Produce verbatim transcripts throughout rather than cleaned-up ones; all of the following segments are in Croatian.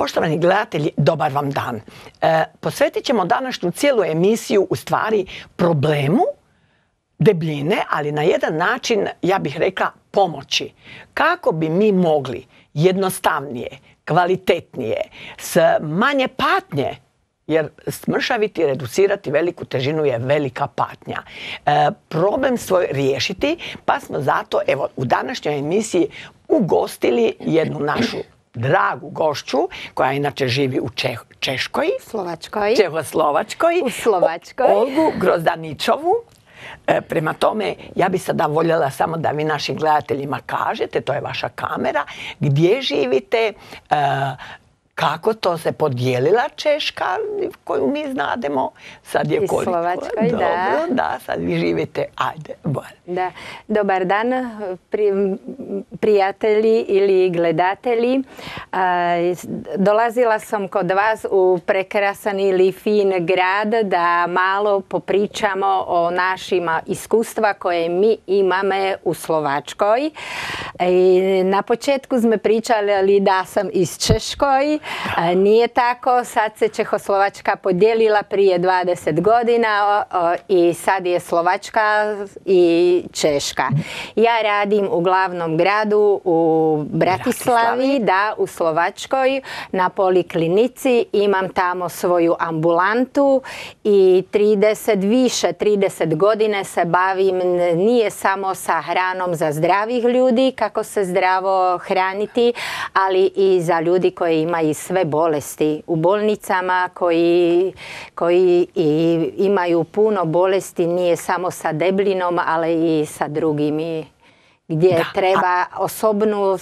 Poštovani gledatelji, dobar vam dan. E, posvetit ćemo današnju cijelu emisiju u stvari problemu debljine, ali na jedan način, ja bih rekla, pomoći. Kako bi mi mogli jednostavnije, kvalitetnije, s manje patnje, jer smršaviti, reducirati veliku težinu je velika patnja. E, problem svoj riješiti, pa smo zato, evo, u današnjoj emisiji ugostili jednu našu dragu gošću, koja inače živi u Čeh, Češkoj, Slovačkoj, Čehoslovačkoj, u Slovačkoj, Olgu Grozdaničovu. E, prema tome, ja bi sada voljela samo da vi našim gledateljima kažete, to je vaša kamera, gdje živite, e, kako to se podijelila Češka, koju mi znademo, sad je koliko. I Slovačkoj, dobro, da. Da, sad vi živite, ajde, bolje. Da. Dobar dan, pri, prijatelji ili gledatelji. A, dolazila sam kod vas u prekrasan ili fin grad da malo popričamo o našim iskustva koje mi imamo u Slovačkoj. I na početku smo pričali da sam iz Češkoj. Nije tako, sad se Čehoslovačka podijelila prije dvadeset godina i sad je Slovačka i Češka. Ja radim u glavnom gradu u Bratislavi, da, u Slovačkoj, na poliklinici. Imam tamo svoju ambulantu i trideset, više trideset godine se bavim nije samo sa hranom za zdravih ljudi, kako se zdravo hraniti, ali i za ljudi koji imaju sve bolesti u bolnicama, koji, koji i imaju puno bolesti, nije samo sa debljinom, ali i sa drugim, gdje da, treba a... osobnu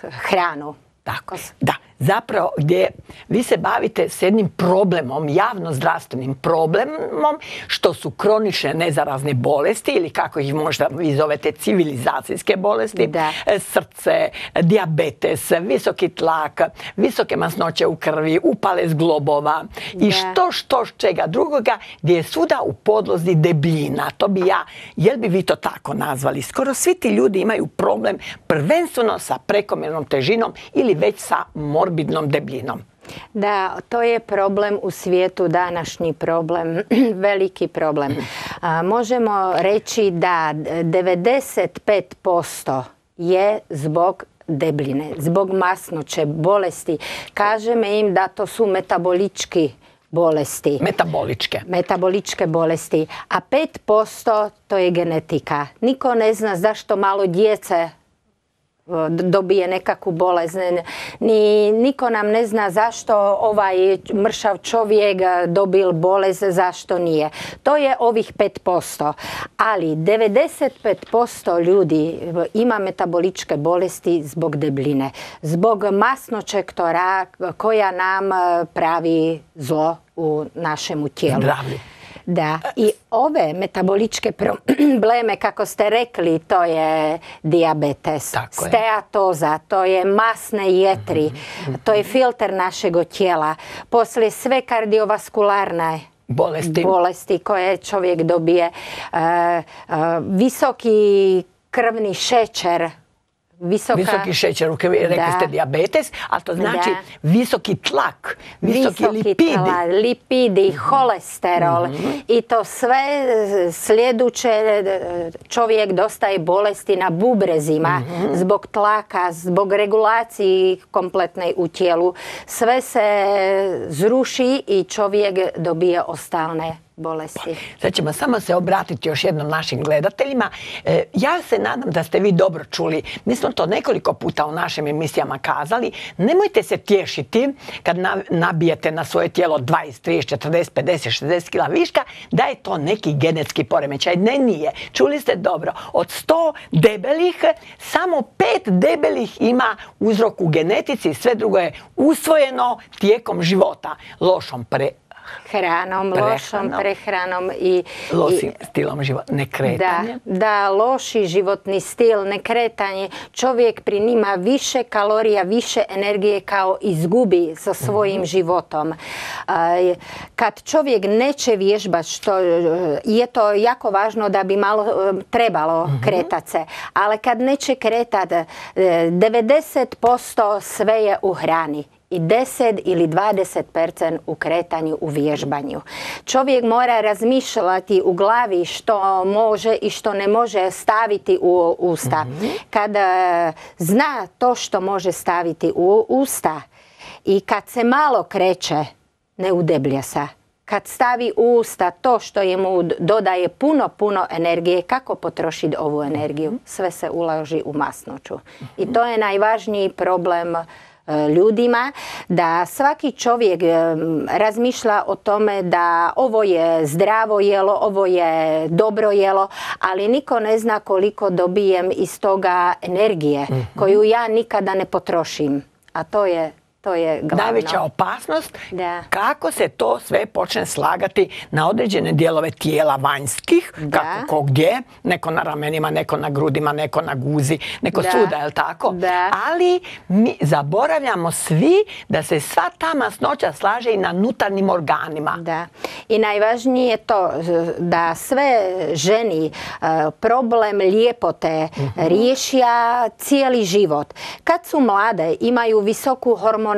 hranu. Tako, da. Zapravo, gdje vi se bavite s jednim problemom, javno-zdravstvenim problemom, što su kronične nezarazne bolesti ili kako ih možda vi zovete civilizacijske bolesti, da. Srce, dijabetes, visoki tlak, visoke masnoće u krvi, upale zglobova da. I što, što, čega drugoga, gdje je svuda u podlozi debljina. To bi ja, jel bi vi to tako nazvali? Skoro svi ti ljudi imaju problem prvenstveno sa prekomjernom težinom ili već sa morbidnom debljinom. Da, to je problem u svijetu, današnji problem, veliki problem. A, možemo reći da devedeset pet posto je zbog debljine, zbog masnoće, bolesti. Kažemo im da to su metabolički bolesti. Metaboličke. Metaboličke bolesti. A pet posto to je genetika. Niko ne zna zašto malo djece dobije nekakvu bolest. Ni, niko nam ne zna zašto ovaj mršav čovjek dobil bolest, zašto nije. To je ovih pet posto. Ali devedeset pet posto ljudi ima metaboličke bolesti zbog debljine. Zbog masnoće koja nam pravi zlo u našemu tijelu. Zdravlje. Da, i ove metaboličke probleme, kako ste rekli, to je dijabetes, tako je. Steatoza, to je masne jetri, mm-hmm. to je filter našeg tijela. Poslije sve kardiovaskularne bolesti, bolesti koje čovjek dobije, uh, uh, visoki krvni šećer, Visoka, visoki šećer u krvi, rekli ste dijabetes, a to znači da. Visoki tlak, visoki, visoki lipidi. Tla, lipidi, holesterol mm-hmm. i to sve sljeduće čovjek dostaje bolesti na bubrezima mm-hmm. zbog tlaka, zbog regulacije kompletne u tijelu. Sve se zruši i čovjek dobije ostalne bolesti. Sad ćemo samo se obratiti još jednom našim gledateljima. E, ja se nadam da ste vi dobro čuli. Mi smo to nekoliko puta u našim emisijama kazali. Nemojte se tješiti kad nabijete na svoje tijelo dvadeset, trideset, četrdeset, pedeset, šezdeset kila viška, da je to neki genetski poremećaj. Ne, nije. Čuli ste dobro. Od sto debelih, samo pet debelih ima uzrok u genetici, sve drugo je usvojeno tijekom života. Lošom pre hranom, prehranom, lošom prehranom i lošim stilom života, nekretanje. Da, da, loši životni stil, nekretanje. Čovjek pri njima više kalorija, više energije kao izgubi sa svojim mm-hmm. životom. Kad čovjek neće vježbati, što je to jako važno da bi malo trebalo mm-hmm. kretati se, ali kad neće kretati, devedeset posto sve je u hrani. i deset ili dvadeset posto u kretanju, u vježbanju. Čovjek mora razmišljati u glavi što može i što ne može staviti u usta. Mm-hmm. Kada zna to što može staviti u usta i kad se malo kreće, ne udeblja se. Kad stavi u usta to što je mu dodaje puno, puno energije, kako potrošiti ovu energiju? Sve se ulaži u masnoću. I to je najvažniji problem ljudima, da svaki čovjek razmišlja o tome da ovo je zdravo jelo, ovo je dobro jelo, ali niko ne zna koliko dobijem iz toga energije koju ja nikada ne potrošim. A to je To je glavno. Najveća opasnost da. Kako se to sve počne slagati na određene dijelove tijela vanjskih, da. kako ko gdje, neko na ramenima, neko na grudima, neko na guzi, neko da. Svuda, je li tako? Da. Ali mi zaboravljamo svi da se sva ta masnoća slaže i na unutarnjim organima. Da. I najvažnije je to da sve ženi problem lijepote uh-huh. riješija cijeli život. Kad su mlade, imaju visoku hormonalnu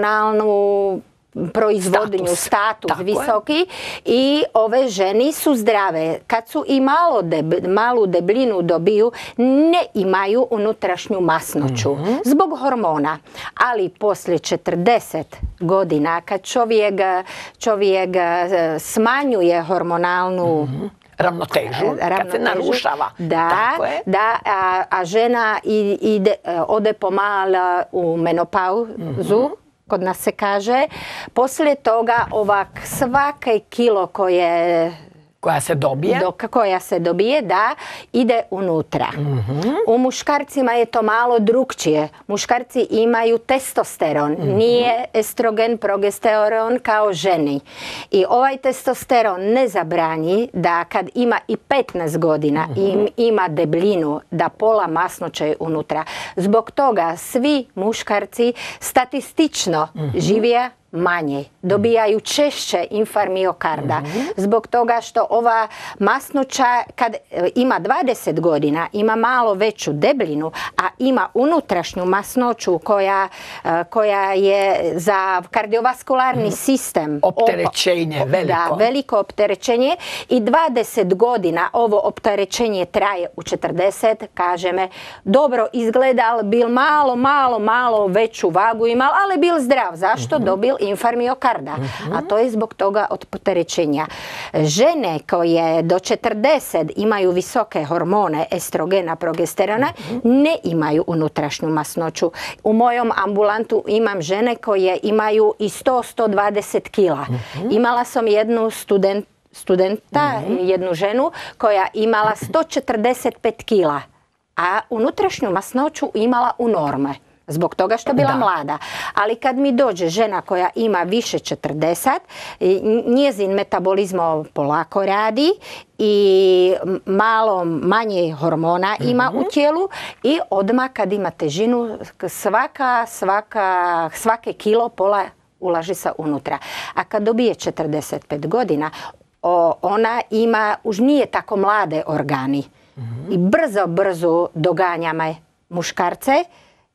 proizvodnju, status, status visoki je. I ove ženi su zdrave. Kad su i malo deb, malu debljinu dobiju, ne imaju unutrašnju masnoću mm-hmm. zbog hormona. Ali poslije četrdeset godina, kad čovjek, čovjek smanjuje hormonalnu mm-hmm. ravnotežu, ravnotežu, kad se narušava. Da, tako je. Da, a, a žena ide, ode pomalo u menopauzu, mm-hmm. kod nas se kaže. Poslije toga ovak svake kilo koje koja se dobije, do, koja se dobije, da, ide unutra. Mm-hmm. U muškarcima je to malo drukčije. Muškarci imaju testosteron, mm-hmm. nije estrogen, progesteron kao ženi. I ovaj testosteron ne zabranji da kad ima i petnaest godina mm-hmm. i ima debljinu, da pola masnoće je unutra. Zbog toga svi muškarci statistično mm-hmm. žive manje, dobijaju češće infarkt miokarda. Mm-hmm. Zbog toga što ova masnoća kad ima dvadeset godina, ima malo veću debljinu, a ima unutrašnju masnoću koja, koja je za kardiovaskularni mm-hmm. sistem opterećenje veliko. Da, veliko opterećenje i dvadeset godina ovo opterećenje traje. U četrdeset, kaže me, dobro izgleda, ali bil malo, malo, malo veću vagu imao, ali bil zdrav. Zašto? Mm-hmm. Dobil infarkt miokarda, mm-hmm. a to je zbog toga opterećenja. Žene koje do četrdeset imaju visoke hormone estrogena, progesterona, mm-hmm. ne imaju unutrašnju masnoću. U mojom ambulantu imam žene koje imaju i sto do sto dvadeset kila. Mm-hmm. Imala sam jednu student, studenta, mm-hmm. jednu ženu koja imala sto četrdeset pet kila, a unutrašnju masnoću imala u norme. Zbog toga što je bila da. mlada. Ali kad mi dođe žena koja ima više četrdeset, njezin metabolizam polako radi i malo manje hormona ima mm-hmm. u tijelu i odmah kad ima težinu svaka, svaka, svake kilo pola ulaži se unutra. A kad dobije četrdeset pet godina, o, ona ima, už nije tako mlade organi. Mm-hmm. I brzo, brzo doganjama muškarce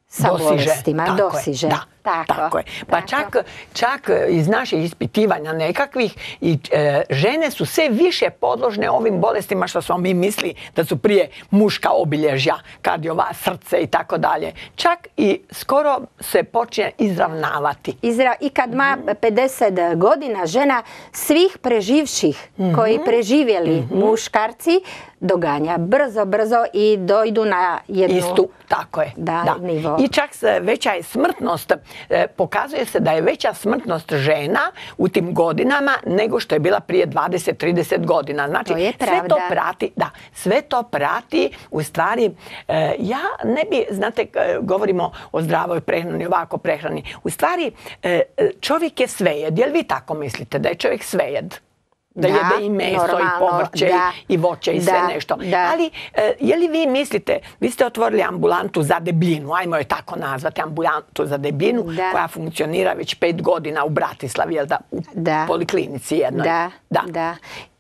sa dosiže, bolestima, tako dosiže. Je, da, tako, tako je. Pa tako. čak, čak iz naših ispitivanja nekakvih i e, žene su sve više podložne ovim bolestima što smo mi misli da su prije muška obilježja, kardiova, srce i tako dalje. Čak i skoro se počne izravnavati. Izra, I kad ima pedeset godina žena, svih preživših mm-hmm. koji preživjeli mm-hmm. muškarci doganja brzo, brzo i dojdu na jednu istu, tako je, da, da. nivo. I čak veća je smrtnost, e, pokazuje se da je veća smrtnost žena u tim godinama nego što je bila prije dvadeset do trideset godina. Znači, to je sve to prati, da, sve to prati, u stvari, e, ja ne bi, znate, govorimo o zdravoj prehrani, ovako prehrani, u stvari, e, čovjek je svejed. Jel vi tako mislite da je čovjek svejed? Da, da jede i meso normalno, i povrće da, i voće i da, sve nešto. Da. Ali e, je li vi mislite, vi ste otvorili ambulantu za debljinu, ajmo je tako nazvati, ambulantu za debljinu, da. koja funkcionira već pet godina u Bratislavi, jel da, u da. poliklinici jednoj. Da, da. da.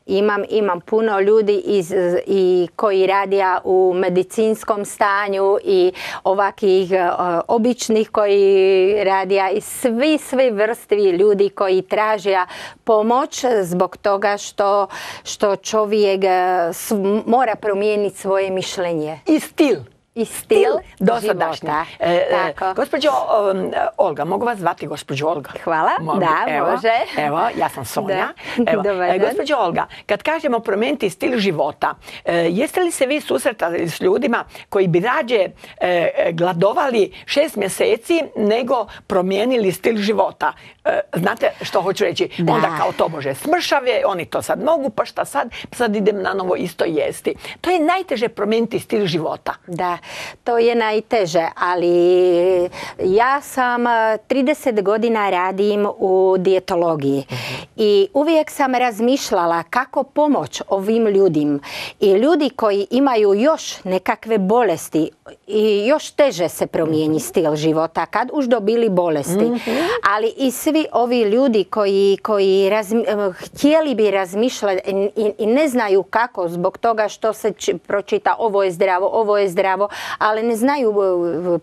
Imam, imam puno ljudi iz, i koji radija u medicinskom stanju i ovakvih uh, običnih koji radija i svi, svi vrsti ljudi koji tražija pomoć zbog toga što, što čovjek uh, mora promijeniti svoje mišljenje. I stil. I stil dosadašnji. E, Tako. Gospođo um, Olga, mogu vas zvati gospođo Olga? Hvala, Mogu. da, evo, može. Evo, ja sam Sonja. Da. Evo, Dobar dan. gospođo Olga, kad kažemo promijeniti stil života, e, jeste li se vi susretali s ljudima koji bi rađe e, gladovali šest mjeseci nego promijenili stil života? E, znate što hoću reći? Da. Onda kao to može smršave, oni to sad mogu, pa šta sad? Sad idem na novo isto jesti. To je najteže promijeniti stil života. Da, to je najteže, ali ja sam trideset godina radim u dijetologiji uh-huh. i uvijek sam razmišljala kako pomoć ovim ljudima i ljudi koji imaju još nekakve bolesti i još teže se promijeni stil života kad už dobili bolesti, uh-huh. ali i svi ovi ljudi koji, koji razmi, htjeli bi razmišljati i, i ne znaju kako zbog toga što se č, pročita ovo je zdravo, ovo je zdravo, ali ne znaju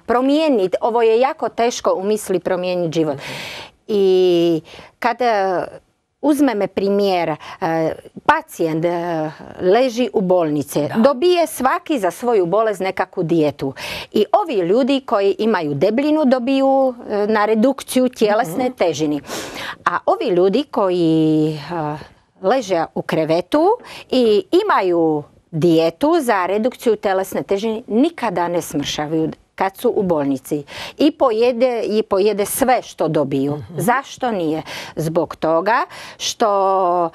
promijeniti. Ovo je jako teško u misli promijeniti život. I kada uzmeme primjer, pacijent leži u bolnici, da. Dobije svaki za svoju bolest nekakvu dijetu. I ovi ljudi koji imaju debljinu dobiju na redukciju tjelesne mm-hmm. težini. A ovi ljudi koji leže u krevetu i imaju dijetu za redukciju telesne težine nikada ne smršavaju kad su u bolnici i pojede, i pojede sve što dobiju. Uh-huh. Zašto nije? Zbog toga što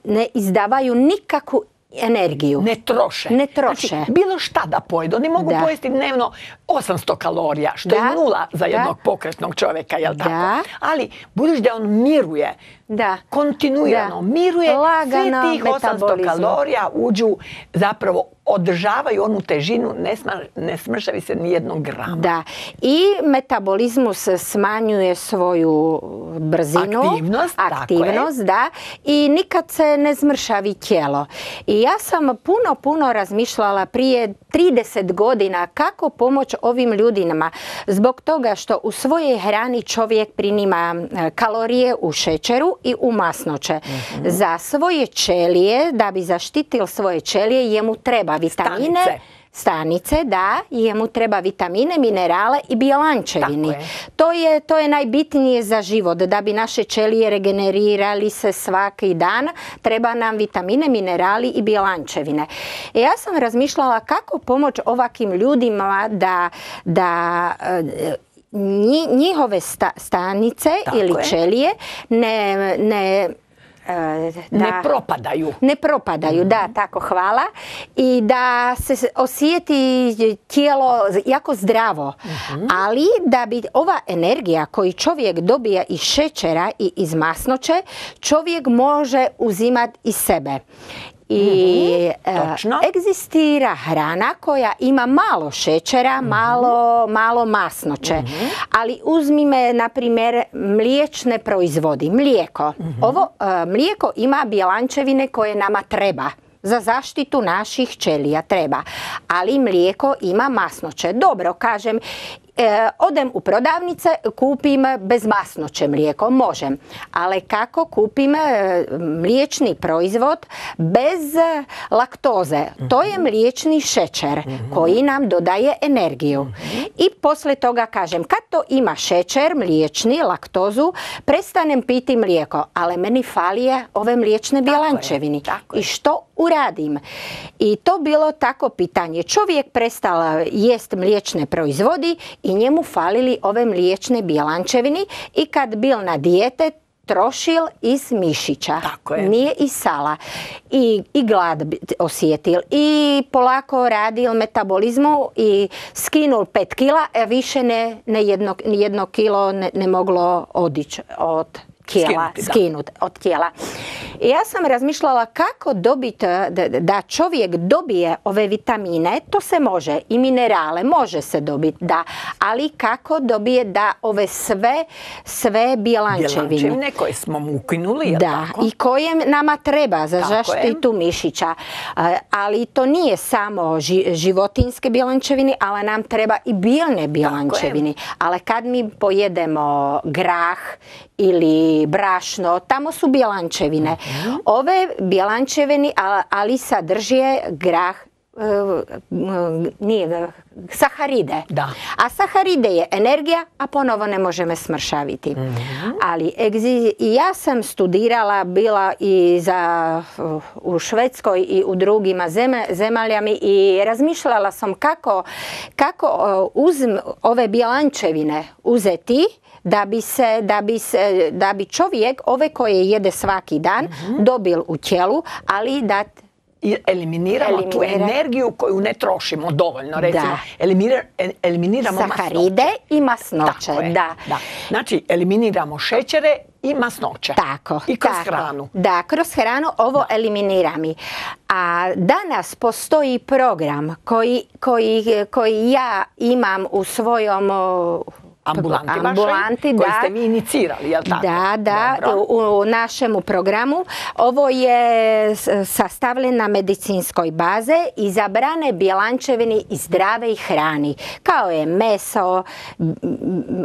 ne izdavaju nikakvu energiju. Ne troše. Ne troše. Znači, bilo šta da pojedu. Oni mogu da. pojesti dnevno osamsto kalorija, što da. je nula za jednog da. pokretnog čovjeka, jel da. tako? Ali, budući da on miruje, da. kontinuirano da. miruje, lagano sve tih osamsto kalorija uđu, zapravo održavaju onu težinu, ne, sma, ne smršavi se ni jednog grama. Da. I metabolizmus smanjuje svoju brzinu. Aktivnost. Aktivnost, da. I nikad se ne zmršavi tijelo. I ja sam puno, puno razmišljala prije trideset godina kako pomoći ovim ljudima. Zbog toga što u svojoj hrani čovjek prinima kalorije u šećeru i u masnoće. Mm-hmm. Za svoje ćelije, da bi zaštitio svoje ćelije, jemu treba vitamine, stanice, stanice da, jemu treba vitamine, minerale i bjelančevini. Je. To je, to je najbitnije za život, da bi naše ćelije regenerirali se svaki dan, treba nam vitamine, minerali i bjelančevine. I ja sam razmišljala kako pomoći ovakvim ljudima da, da njihove sta, stanice Tako ili je. ćelije ne, ne Da, ne propadaju. Ne propadaju, mm-hmm. da, tako, hvala. I da se osjeti tijelo jako zdravo. Mm-hmm. Ali da bi ova energija koju čovjek dobija iz šećera i iz masnoće, čovjek može uzimati iz sebe. I mm-hmm. e, egzistira hrana koja ima malo šećera, mm-hmm. malo, malo masnoće. Mm-hmm. Ali uzmime, na primjer, mliječne proizvodi, mlijeko. Mm-hmm. Ovo e, mlijeko ima bjelančevine koje nama treba. Za zaštitu naših ćelija treba. Ali mlijeko ima masnoće. Dobro, kažem, E, odem u prodavnice, kupim bez masnoće mlijeko, možem. Ali kako kupim e, mliječni proizvod bez laktoze? Mm-hmm. To je mliječni šećer mm-hmm. koji nam dodaje energiju. Mm-hmm. I poslije toga kažem, kad to ima šećer, mliječni, laktozu, prestanem piti mlijeko, ali meni falije ove mliječne bjelančevini. I što uradim? I to bilo tako pitanje. Čovjek prestao jest mliječne proizvodi i njemu falili ove mliječne bjelančevini i kad bil na dijete trošil iz mišića, nije iz sala. I, i glad osjetil i polako radil metabolizmu i skinul pet kila, a više ne, ne jedno, jedno kilo ne, ne moglo odići od tijela, skinuti od tijela. I ja sam razmišljala kako dobiti, da čovjek dobije ove vitamine, to se može, i minerale, može se dobiti, da, ali kako dobije da ove sve, sve bjelančevine. Bjelančevine koje smo mu ukinuli, je li da, tako? I koje nama treba za zaštitu mišića. Ali to nije samo životinjske bjelančevine, ali nam treba i biljne bjelančevine. Ali kad mi pojedemo grah ili brašno, tamo su bjelančevine. Mm-hmm. Ove bjelančevine, ali sadrže grah, nije saharide. Da. A saharide je energija, a ponovo ne možemo smršaviti. Mm-hmm. Ali i ja sam studirala, bila i za, u Švedskoj i u drugima zemaljama i razmišljala sam kako, kako uz ove bjelančevine uzeti da bi, se, da, bi se, da bi čovjek ove koje jede svaki dan mm-hmm. dobil u tijelu, ali da i eliminiramo Eliminira. tu energiju koju ne trošimo dovoljno. Recimo, eliminira, eliminiramo saharide masnoće. i masnoće. Da. Da. Znači, eliminiramo šećere i masnoće. Tako. I kroz tako. hranu. Da, kroz hranu ovo da. eliminiramo. A danas postoji program koji, koji, koji ja imam u svojom ambulanti, ambulanti vašoj, koji ste vi inicirali, je li tako? Da, da, u, u našemu programu. Ovo je sastavljeno na medicinskoj baze i zabrane bjelančevine i zdrave hrani, kao je meso,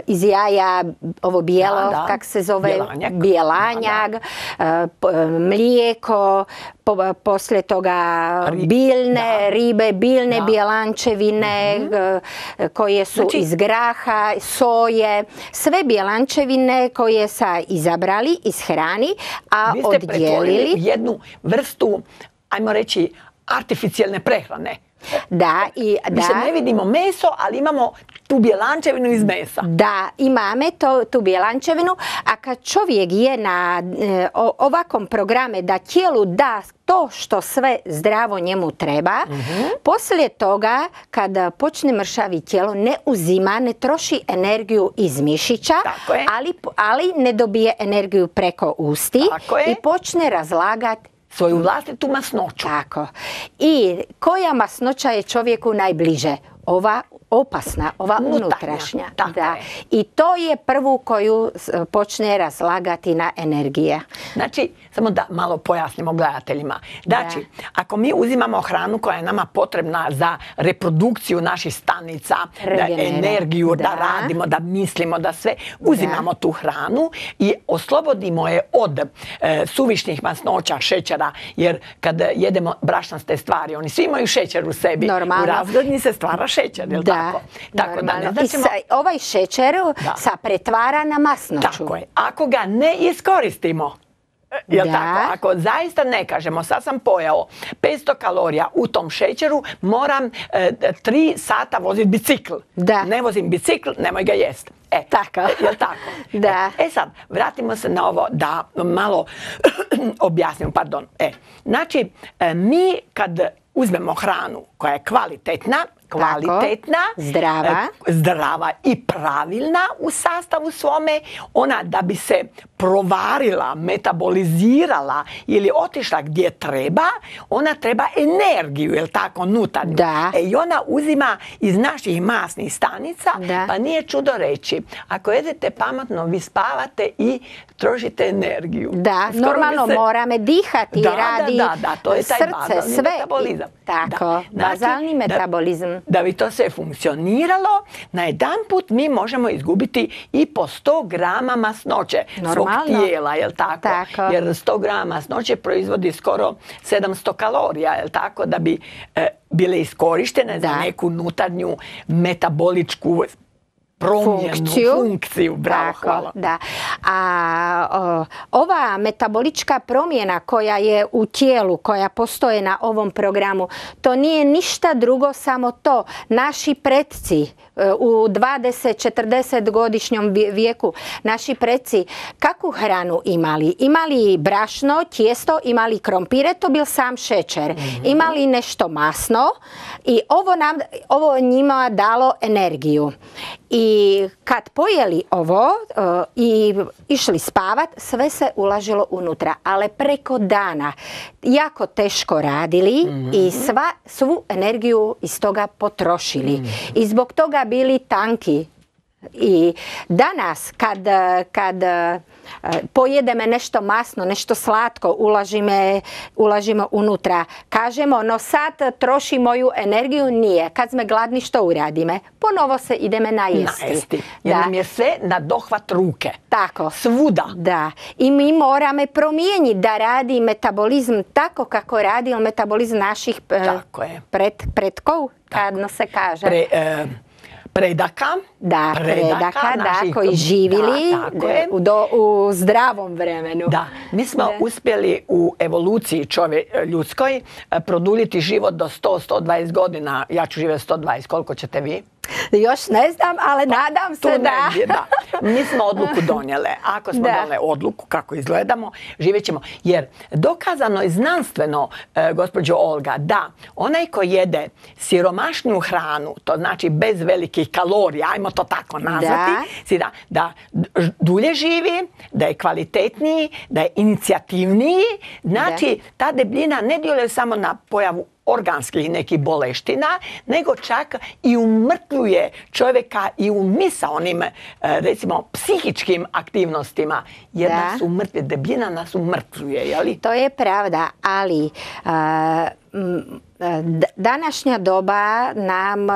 iz jaja, ovo bijelo, da, da. kak se zove, bjelanjak, bjelanjak da, da. mlijeko, po, poslije toga Ri, biljne da. ribe, biljne da. bjelančevine mm-hmm. koje su znači, iz graha, soje, sve bjelančevine koje sa izabrali iz hrani, a vi ste oddijelili jednu vrstu, ajmo reći, artificijelne prehrane. Da, i mi da. se ne vidimo meso, ali imamo tu bjelančevinu iz mesa. Da, imamo to, tu bjelančevinu, a kad čovjek je na e, ovakvom programe da tijelu da to što sve zdravo njemu treba, mm-hmm. poslije toga kada počne mršavi tijelo ne uzima, ne troši energiju iz mišića, ali, ali ne dobije energiju preko usti i počne razlagati svoju vlastitu masnoću. Tako. I koja masnoća je čovjeku najbliže? Ova opasna, ova unutrašnja. Da. I to je prvu koju počne razlagati na energije. Znači, samo da malo pojasnimo gledateljima. Znači, da. ako mi uzimamo hranu koja je nama potrebna za reprodukciju naših stanica, da energiju, da. da radimo, da mislimo, da sve, uzimamo da. tu hranu i oslobodimo je od e, suvišnih masnoća, šećera, jer kad jedemo brašnaste stvari, oni svi imaju šećer u sebi. Normalno. U razglednji se stvara šećer, je li da. tako? Tako da ne značimo... I sa, ovaj šećer se pretvara na masnoću. Tako je. Ako ga ne iskoristimo, jel da. tako? Ako zaista ne kažemo, sad sam pojao petsto kalorija u tom šećeru, moram e, tri sata voziti bicikl. Da. Ne vozim bicikl, nemoj ga jest. E, tako. Jel tako? Da. E, e sad, vratimo se na ovo da malo objasnimo, pardon. E, znači, e, mi kad uzmemo hranu koja je kvalitetna, kvalitetna, tako, zdrava. zdrava i pravilna u sastavu svome, ona da bi se provarila, metabolizirala ili otišla gdje treba, ona treba energiju, jel tako, nutarnju. Da. E, i ona uzima iz naših masnih stanica, da. pa nije čudo reći. Ako jedete pametno, vi spavate i trošite energiju. Da, skoro normalno se... moramo dihati, da, radi da, da, da, to je taj srce, bazalni sve. metabolizam. Tako, da. Znači, bazalni metabolizam. Da, da bi to sve funkcioniralo, na jedan put mi možemo izgubiti i po sto grama masnoće svog tijela, jel tako? tako? Jer sto grama masnoće proizvodi skoro sedamsto kalorija, jel tako? Da bi e, bile iskorištene da. za neku nutarnju metaboličku promjenu, funkciju, funkciju. Bravo, tako, hvala. Da. A o, ova metabolička promjena koja je u tijelu, koja postoje na ovom programu, to nije ništa drugo, samo to. Naši predci u dvadeset četrdeset godišnjom vijeku, naši predci kakvu hranu imali? Imali brašno, tijesto, imali krompire, to bil sam šećer. Mm-hmm. Imali nešto masno i ovo, nam, ovo njima dalo energiju. I kad pojeli ovo uh, i išli spavat, sve se ulažilo unutra, ali preko dana jako teško radili mm-hmm. i sva, svu energiju iz toga potrošili. Mm-hmm. I zbog toga bili tanki. I danas kad, kad pojedeme nešto masno, nešto slatko, ulažime, ulažimo unutra, kažemo no sad troši moju energiju, nije. Kad sme gladni što uradime? Ponovo se ideme najesti. Najesti. Jer nam je sve na dohvat ruke. Tako. Svuda. Da. I mi moramo promijeniti da radi metabolizam tako kako radi metabolizam naših pred, predkov, kadno se kaže. Pre, e... predaka, da, predaka, predaka da, koji živili da, u, do, u zdravom vremenu. Da, mi smo da. uspjeli u evoluciji čovje, ljudskoj produljiti život do sto do sto dvadeset godina. Ja ću živjeti sto dvadeset, koliko ćete vi? Još ne znam, ali pa, nadam se da. Negdje, da. Mi smo odluku donijele. Ako smo donijeli odluku kako izgledamo, živjet ćemo. Jer dokazano je znanstveno, e, gospođo Olga, da onaj ko jede siromašniju hranu, to znači bez velikih kalorija, ajmo to tako nazvati, da, da, da dulje živi, da je kvalitetniji, da je inicijativniji. Znači, da. ta debljina ne djeluje samo na pojavu organskih nekih boleština, nego čak i umrtvuje čovjeka i u misaonim, recimo, psihičkim aktivnostima. Jer da. nas umrtvuje, debljina nas umrtvuje, je li? To je pravda, ali a, današnja doba nam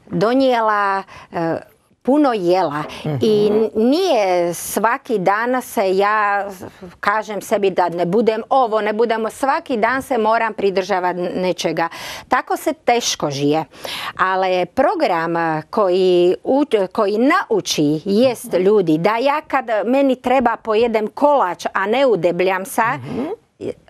donijela a, puno jela mm-hmm. i nije svaki dan se ja kažem sebi da ne budem ovo, ne budemo, svaki dan se moram pridržavati nečega. Tako se teško žije. Ali program koji, koji nauči jest ljudi da ja kad meni treba pojedem kolač, a ne udebljam se, mm-hmm.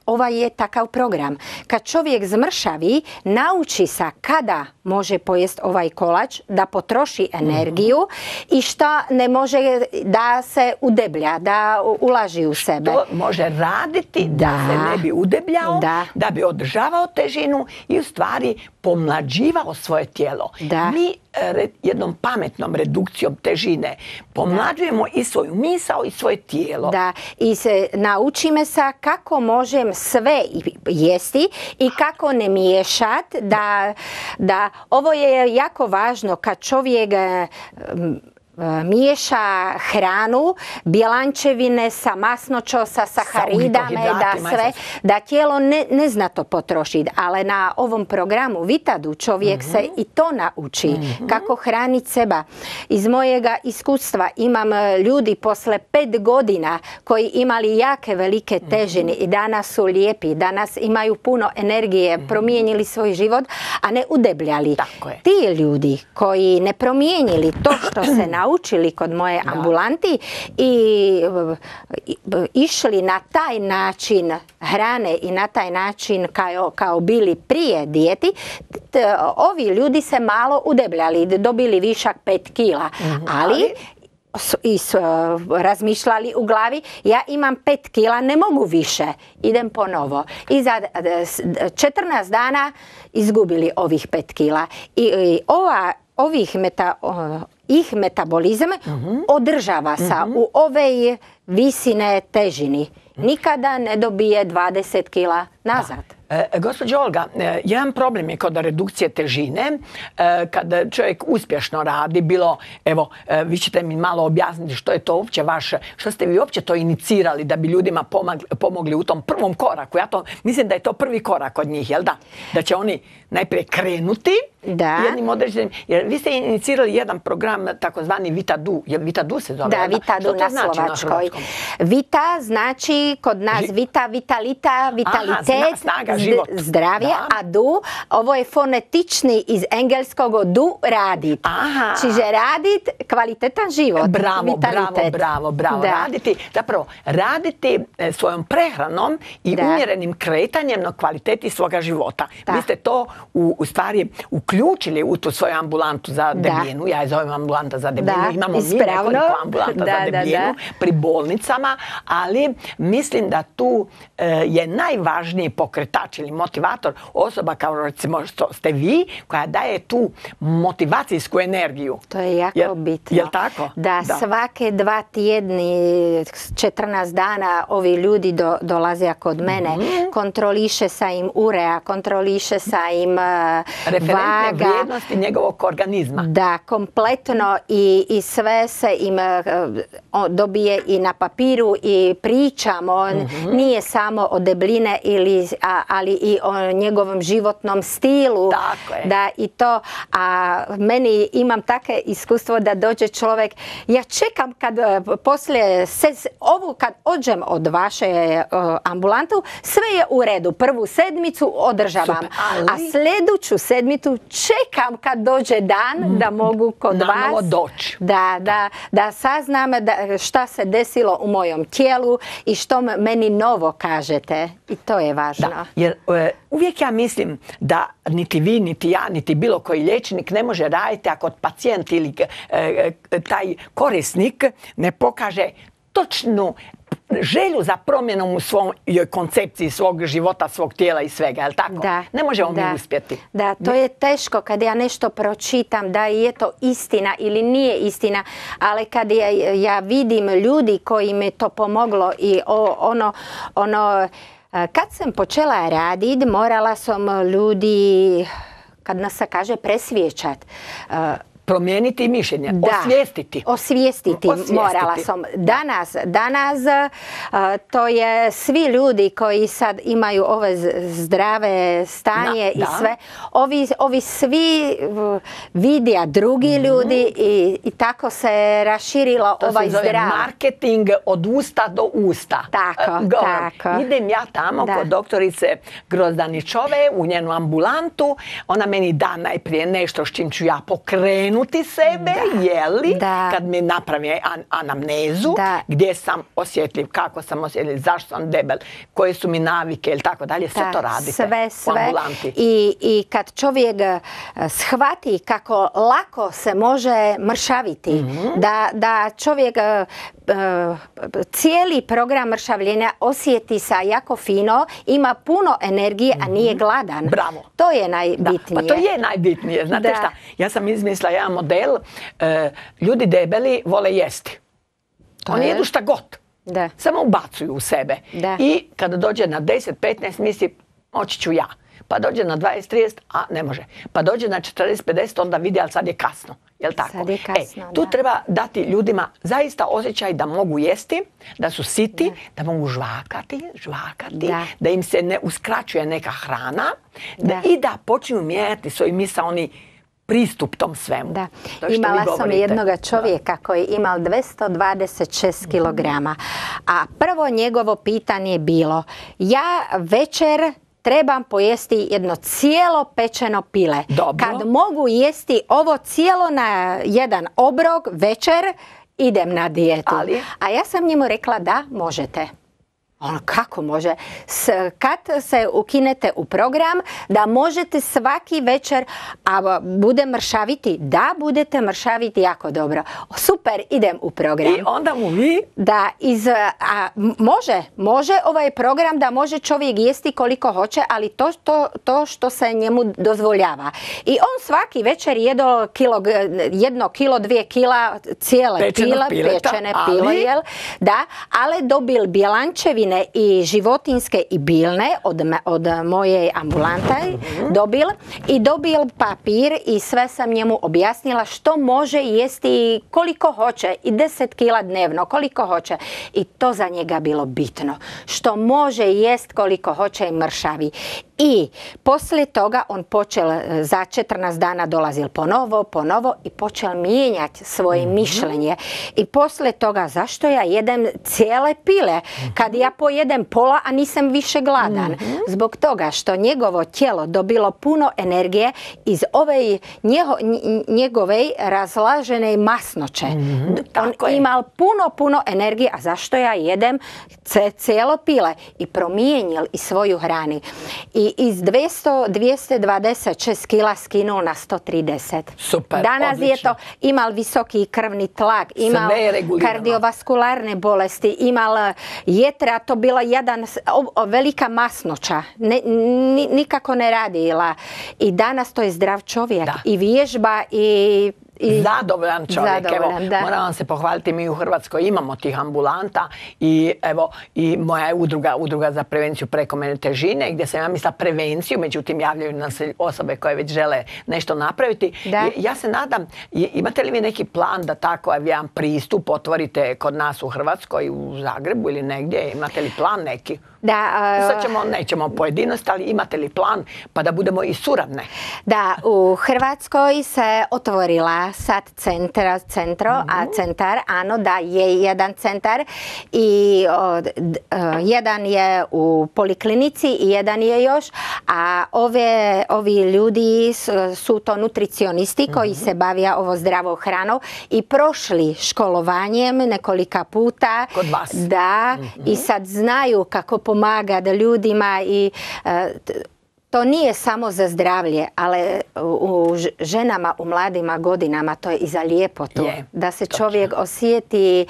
ovaj je takav program. Kad čovjek zmršavi, nauči se kada može pojest ovaj kolač, da potroši energiju mm-hmm. i šta ne može da se udeblja, da ulaži u sebe. Što može raditi da, da se ne bi udebljao, da. da bi održavao težinu i u stvari pomlađivao svoje tijelo. Da. Mi re, jednom pametnom redukcijom težine pomlađujemo da. i svoju misao i svoje tijelo. Da, i se naučime se kako možem sve jesti i kako ne miješati. Da, da, ovo je jako važno kad čovjek miješa hranu, bjelančevine sa masnoćo, sa saharidama, da sve, da tijelo ne, ne zna to potrošiti. Ali na ovom programu Vitadu čovjek mm-hmm. se i to nauči. Mm-hmm. Kako hraniti seba. Iz mojega iskustva imam ljudi posle pet godina koji imali jake velike težine mm-hmm. i danas su lijepi, danas imaju puno energije, mm-hmm. promijenili svoj život, a ne udebljali. Ti ljudi koji ne promijenili to što se naučili učili kod moje da. ambulanti i, i išli na taj način hrane i na taj način kao, kao bili prije dijeti, t, ovi ljudi se malo udebljali, dobili višak pet kila, mm-hmm. ali i s, razmišljali u glavi, ja imam pet kila, ne mogu više, idem ponovo. I za četrnaest dana izgubili ovih pet kila. I, i ova, ovih meta, ih metabolizam mm-hmm. održava se mm-hmm. u ove visine težini. Nikada ne dobije dvadeset kila nazad. E, gospođo Olga, e, jedan problem je kod redukcije težine, e, kad čovjek uspješno radi, bilo, evo, e, vi ćete mi malo objasniti što je to uopće vaše, što ste vi uopće to inicirali da bi ljudima pomagli, pomogli u tom prvom koraku. Ja to mislim da je to prvi korak od njih, jel da? Da će oni najprije krenuti da. jednim određenim, jer vi ste inicirali jedan program takozvani Vitadu, jel Vitadu se zove? Da, Vitadu na znači slovačkoj. Na Vita znači kod nas Ži... Vita, vitalita, vitalitet. Aha, snaga, život. Zdravlje, da. A du, ovo je fonetični iz engelskog du, radit. Aha. Čiže radit, kvalitetan život. Bravo, vitalitet. bravo, bravo, bravo. Da. Raditi, zapravo, raditi svojom prehranom i da. umjerenim kretanjem na kvaliteti svoga života. Da. Vi ste to u, u stvari uključili u tu svoju ambulantu za debljinu. Ja je zovem ambulanta za debljinu. Da, imamo mi ispravno. nekoliko ambulanta Da, za debljinu da, da. pri bolnicama, ali mislim da tu e, je najvažniji pokretač ili motivator osoba kao recimo što ste vi, koja daje tu motivacijsku energiju. To je jako Jel, bitno. Jel tako? Da, da, svake dva tjedni, četrnaest dana ovi ljudi do, dolaze kod mene. Mm-hmm. Kontroliše sa im urea, kontroliše sa im uh, referentne vaga. vrijednosti njegovog organizma. Da, kompletno i, i sve se im uh, dobije i na papiru i pričamo. Mm-hmm. Nije samo o debljine, ili, a, ali i o njegovom životnom stilu. Tako je. Da, i to. A meni imam take iskustvo da dođe čovjek, ja čekam kad uh, poslije se, ovu kad ođem od vaše uh, ambulantu, sve je u redu. Prvu sedmicu održavam. Super, ali... A sljedeću sedmicu čekam kad dođe dan da mogu kod Nanovo vas doći. Da, da, da saznam da, šta se desilo u mojom tijelu i što meni novo kažete. I to je važno. Da, jer e, uvijek ja mislim da niti vi, niti ja, niti bilo koji liječnik ne može raditi ako pacijent ili e, e, taj korisnik ne pokaže točnu želju za promjenom u svojoj koncepciji svog života, svog tijela i svega, je li tako? Da, ne možemo da, mi uspjeti. Da, to je teško kad ja nešto pročitam, da je to istina ili nije istina, ali kad ja, ja vidim ljudi koji mi to pomoglo i o, ono, ono, kad sam počela raditi, morala sam ljudi, kad nas se kaže, presvijećati. Promijeniti mišljenje, da, osvijestiti. Osvijestiti, osvijestiti. Morala sam. Danas, danas uh, to je svi ljudi koji sad imaju ove zdrave stanje da, i da. sve, ovi, ovi svi uh, vidja drugi mm-hmm. ljudi i, i tako se raširilo to ovaj se zove zdrav. Marketing od usta do usta. Tako, uh, tako. Idem ja tamo da. kod doktorice Grozdanićove u njenu ambulantu. Ona meni da najprije nešto s čim ću ja pokrenuti sebe, da, jeli, da. kad mi napravi an, anamnezu, da. gdje sam osjetljiv, kako sam osjetljiv, zašto sam debel, koje su mi navike ili tako dalje, sve to radite sve, sve. u ambulanti. I, I kad čovjek shvati kako lako se može mršaviti, mm-hmm. da, da čovjek uh, cijeli program mršavljenja osjeti sa jako fino, ima puno energije, mm-hmm. a nije gladan. Bravo. To je najbitnije. Da, pa to je najbitnije. Znate da. šta, ja sam izmislila jedan model, e, ljudi debeli vole jesti. To Oni je. jedu šta god. Da. Samo ubacuju u sebe. Da. I kada dođe na deset petnaest misli, moći ću ja. Pa dođe na dvadeset trideset, a ne može. Pa dođe na četrdeset pedeset, onda vidi, ali sad je kasno. Jel tako? Sad je kasno, e, tu da. treba dati ljudima zaista osjećaj da mogu jesti, da su siti, da, da mogu žvakati, žvakati, da. da im se ne uskraćuje neka hrana da. i da počinju mijenjati svoj misaoni pristup tom svemu. Da. Imala sam jednog čovjeka da. koji je imao dvjesto dvadeset šest kilograma, a prvo njegovo pitanje je bilo, ja večer trebam pojesti jedno cijelo pečeno pile. Dobro. Kad mogu jesti ovo cijelo na jedan obrok večer, idem na dijetu. Ali? A ja sam njemu rekla da možete. Ono, kako može? S, kad se ukinete u program, da možete svaki večer, a bude mršaviti? Da, budete mršaviti jako dobro. Super, idem u program. I onda mu vi? Da, iz, a, može, može ovaj program da može čovjek jesti koliko hoće, ali to, to, to što se njemu dozvoljava. I on svaki večer jedo kilo, jedno kilo, dvije kila, cijele Pečeno pile, pečene pile, ali... jel? Da, ali dobil bjelančevine i životinske i biljne od, od moje ambulante mm-hmm. dobil i dobil papir i sve sam njemu objasnila što može jesti koliko hoće i deset kila dnevno, koliko hoće. I to za njega bilo bitno. Što može jest koliko hoće i mršavi. I poslije toga on počel za četrnaest dana dolazil ponovo, ponovo i počel mijenjati svoje mm-hmm. mišljenje. I poslije toga zašto ja jedem cijele pile mm-hmm. kad ja pojedem pola, a nisam više gladan. Mm-hmm. Zbog toga što njegovo tijelo dobilo puno energije iz ove njeho, njegove razlažene masnoće. Mm-hmm. On imal puno, puno energije, a zašto ja jedem cijelo pile i promijenil i svoju hranu. I i iz dvjesto, dvjesto dvadeset šest kila skinuo na sto trideset. Super, Danas odlično. je to imal visoki krvni tlak, imal kardiovaskularne bolesti, imal jetra, to bila jedan o, velika masnoća, ne, ni, nikako ne radila. I danas to je zdrav čovjek da. i vježba i I zadovoljan čovjek. Zadovoljan, evo, moram vam se pohvaliti, mi u Hrvatskoj imamo tih ambulanta i evo i moja je udruga, udruga za prevenciju prekomjerne težine, gdje sam ja mislila prevenciju, međutim javljaju nam se osobe koje već žele nešto napraviti. Da. Ja se nadam, imate li vi neki plan da tako jedan pristup otvorite kod nas u Hrvatskoj, u Zagrebu ili negdje? Imate li plan neki? Da, uh, sad ćemo, nećemo pojedinost, ali imate li plan pa da budemo i suradne? Da, u Hrvatskoj se otvorila sad centra, centro, mm-hmm. a centar, ano da je jedan centar i o, d, uh, jedan je u poliklinici i jedan je još, a ove, ovi ljudi su, su to nutricionisti mm-hmm. koji se bavija ovo zdravo hranom i prošli školovanjem nekolika puta. Kod vas? Da, mm-hmm. i sad znaju kako pomaga da ljudima i uh, to nije samo za zdravlje, ali u ženama, u mladima godinama to je i za ljepotu. Je, da se točno. Čovjek osjeti,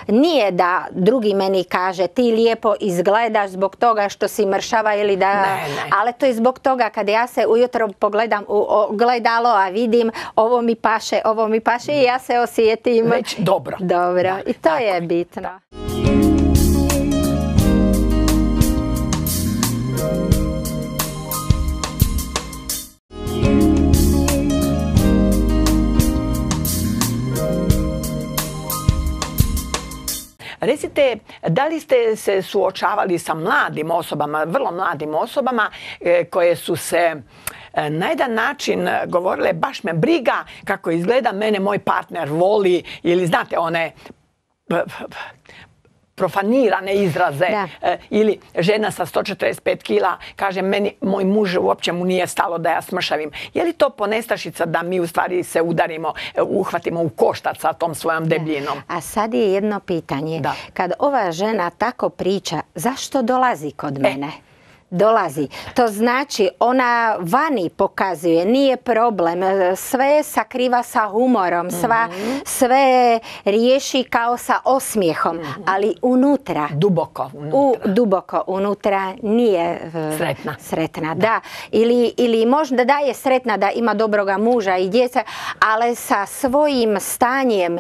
nije da drugi meni kaže ti lijepo izgledaš zbog toga što si mršava ili da... Ne, ne. Ali to je zbog toga kad ja se ujutro pogledam u ogledalo, a vidim ovo mi paše, ovo mi paše i ja se osjetim... Već dobro. Dobro. Da, i to tako je bitno. Recite, da li ste se suočavali sa mladim osobama, vrlo mladim osobama koje su se na jedan način govorile baš me briga kako izgleda, mene moj partner voli ili znate one profanirane izraze e, ili žena sa sto četrdeset pet kila kaže meni, moj muž uopće mu nije stalo da ja smršavim. Je li to ponestašica da mi u stvari se udarimo, uhvatimo u koštac sa tom svojom debljinom? Da. A sad je jedno pitanje. Da. Kad ova žena tako priča, zašto dolazi kod mene? E. Dolazi. To znači ona vani pokazuje, nije problem, sve sakriva sa humorom, sva, mm-hmm. sve riješi kao sa osmijehom, mm-hmm. ali unutra, duboko unutra, u, duboko unutra nije sretna. sretna da. Da. Ili, ili možda da je sretna da ima dobroga muža i djeca, ali sa svojim stanjem,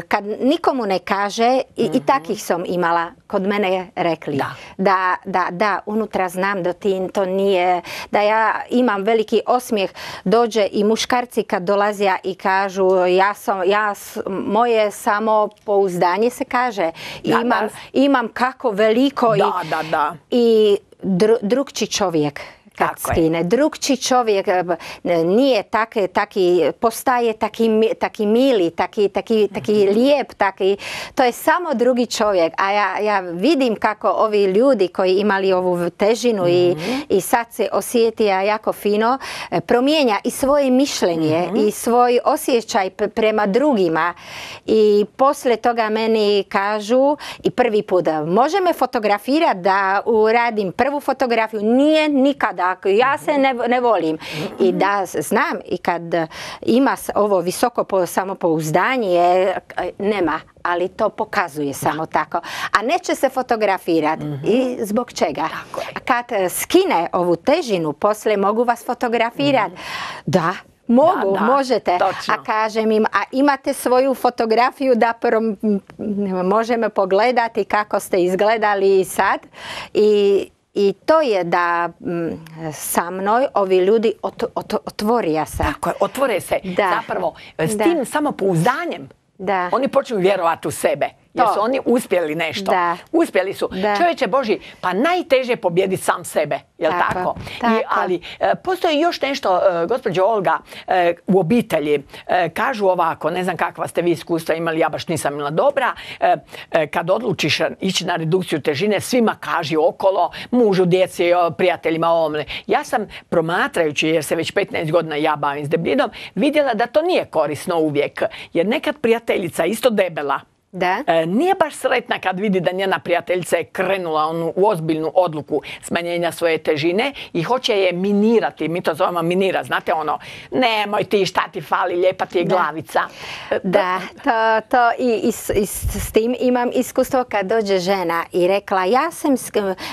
kad nikomu ne kaže, i, mm-hmm. i takih sam imala kod mene rekli, da, da, da, da unutra znam da ti to nije, da ja imam veliki osmijeh, dođe i muškarci kad dolazija i kažu ja sam, ja, moje samopouzdanje se kaže, da, imam, da. imam kako veliko da, i, da, da. i dru, drugčiji čovjek. Kad tako skine. Je. Drugčiji čovjek nije taki, taki, postaje taki, taki mili, taki, taki, taki mm-hmm. lijep, taki, to je samo drugi čovjek. A ja, ja vidim kako ovi ljudi koji imali ovu težinu mm-hmm. i, i sad se osjetija jako fino, promijenja i svoje mišljenje mm-hmm. i svoj osjećaj prema drugima. I poslije toga meni kažu i prvi put, može me fotografirati da uradim prvu fotografiju? Nije nikada. Ja se ne, ne volim. I da znam, i kad ima ovo visoko samopouzdanje, nema, ali to pokazuje samo tako. A neće se fotografirati. Mm-hmm. I zbog čega? A kad skine ovu težinu, poslije mogu vas fotografirati. Mm-hmm. Da. Mogu, da, da, možete. Točno. A kažem im, a imate svoju fotografiju da prom, možemo pogledati kako ste izgledali sad. I I to je da m, sa mnom ovi ljudi ot, ot, otvorija se. Tako je, otvore se. Da. Zapravo, s da. tim samopouzdanjem da. Oni počnu vjerovati u sebe. Jer su oni uspjeli nešto. Da. Uspjeli su. Da. Čovječe Boži, pa najteže je pobijediti sam sebe. Jel tako? tako? tako. I, ali e, postoji još nešto, e, gospođo Olga, e, u obitelji. E, kažu ovako, ne znam kakva ste vi iskustva imali, ja baš nisam imala dobra. E, e, kad odlučiš ići na redukciju težine, svima kaži okolo, mužu, djeci, prijateljima, ovome. Ja sam promatrajući, jer se već petnaest godina ja bavim s debljinom, vidjela da to nije korisno uvijek. Jer nekad prijateljica isto debela, Da. E, nije baš sretna kad vidi da njena prijateljica je krenula onu, u ozbiljnu odluku smanjenja svoje težine i hoće je minirati. Mi to zovemo minira. Znate ono, nemoj ti, šta ti fali, lijepa ti je glavica. Da, to, to i, i, i s tim imam iskustvo kad dođe žena i rekla, ja sam,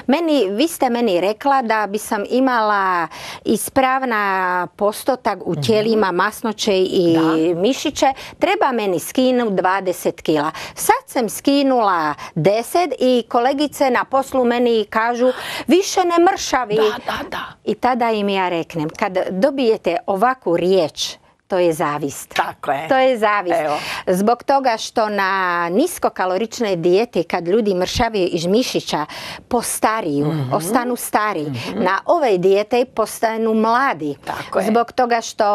meni, vi ste meni rekla da bi sam imala ispravna postotak u tijelima, masnoće i da. mišiće, treba meni skinu dvadeset kila. Sad sam skinula deset i kolegice na poslu meni kažu, više ne mršavi. Da, da, da. I tada im ja reknem, kad dobijete ovakvu riječ, to je zavist. Tako je. To je zavist. Evo. Zbog toga što na niskokaloričnoj dijeti kad ljudi mršaviju iz mišića postariju, mm-hmm. ostanu stari. Mm-hmm. Na ove dijete postanu mladi. Tako je. Zbog toga što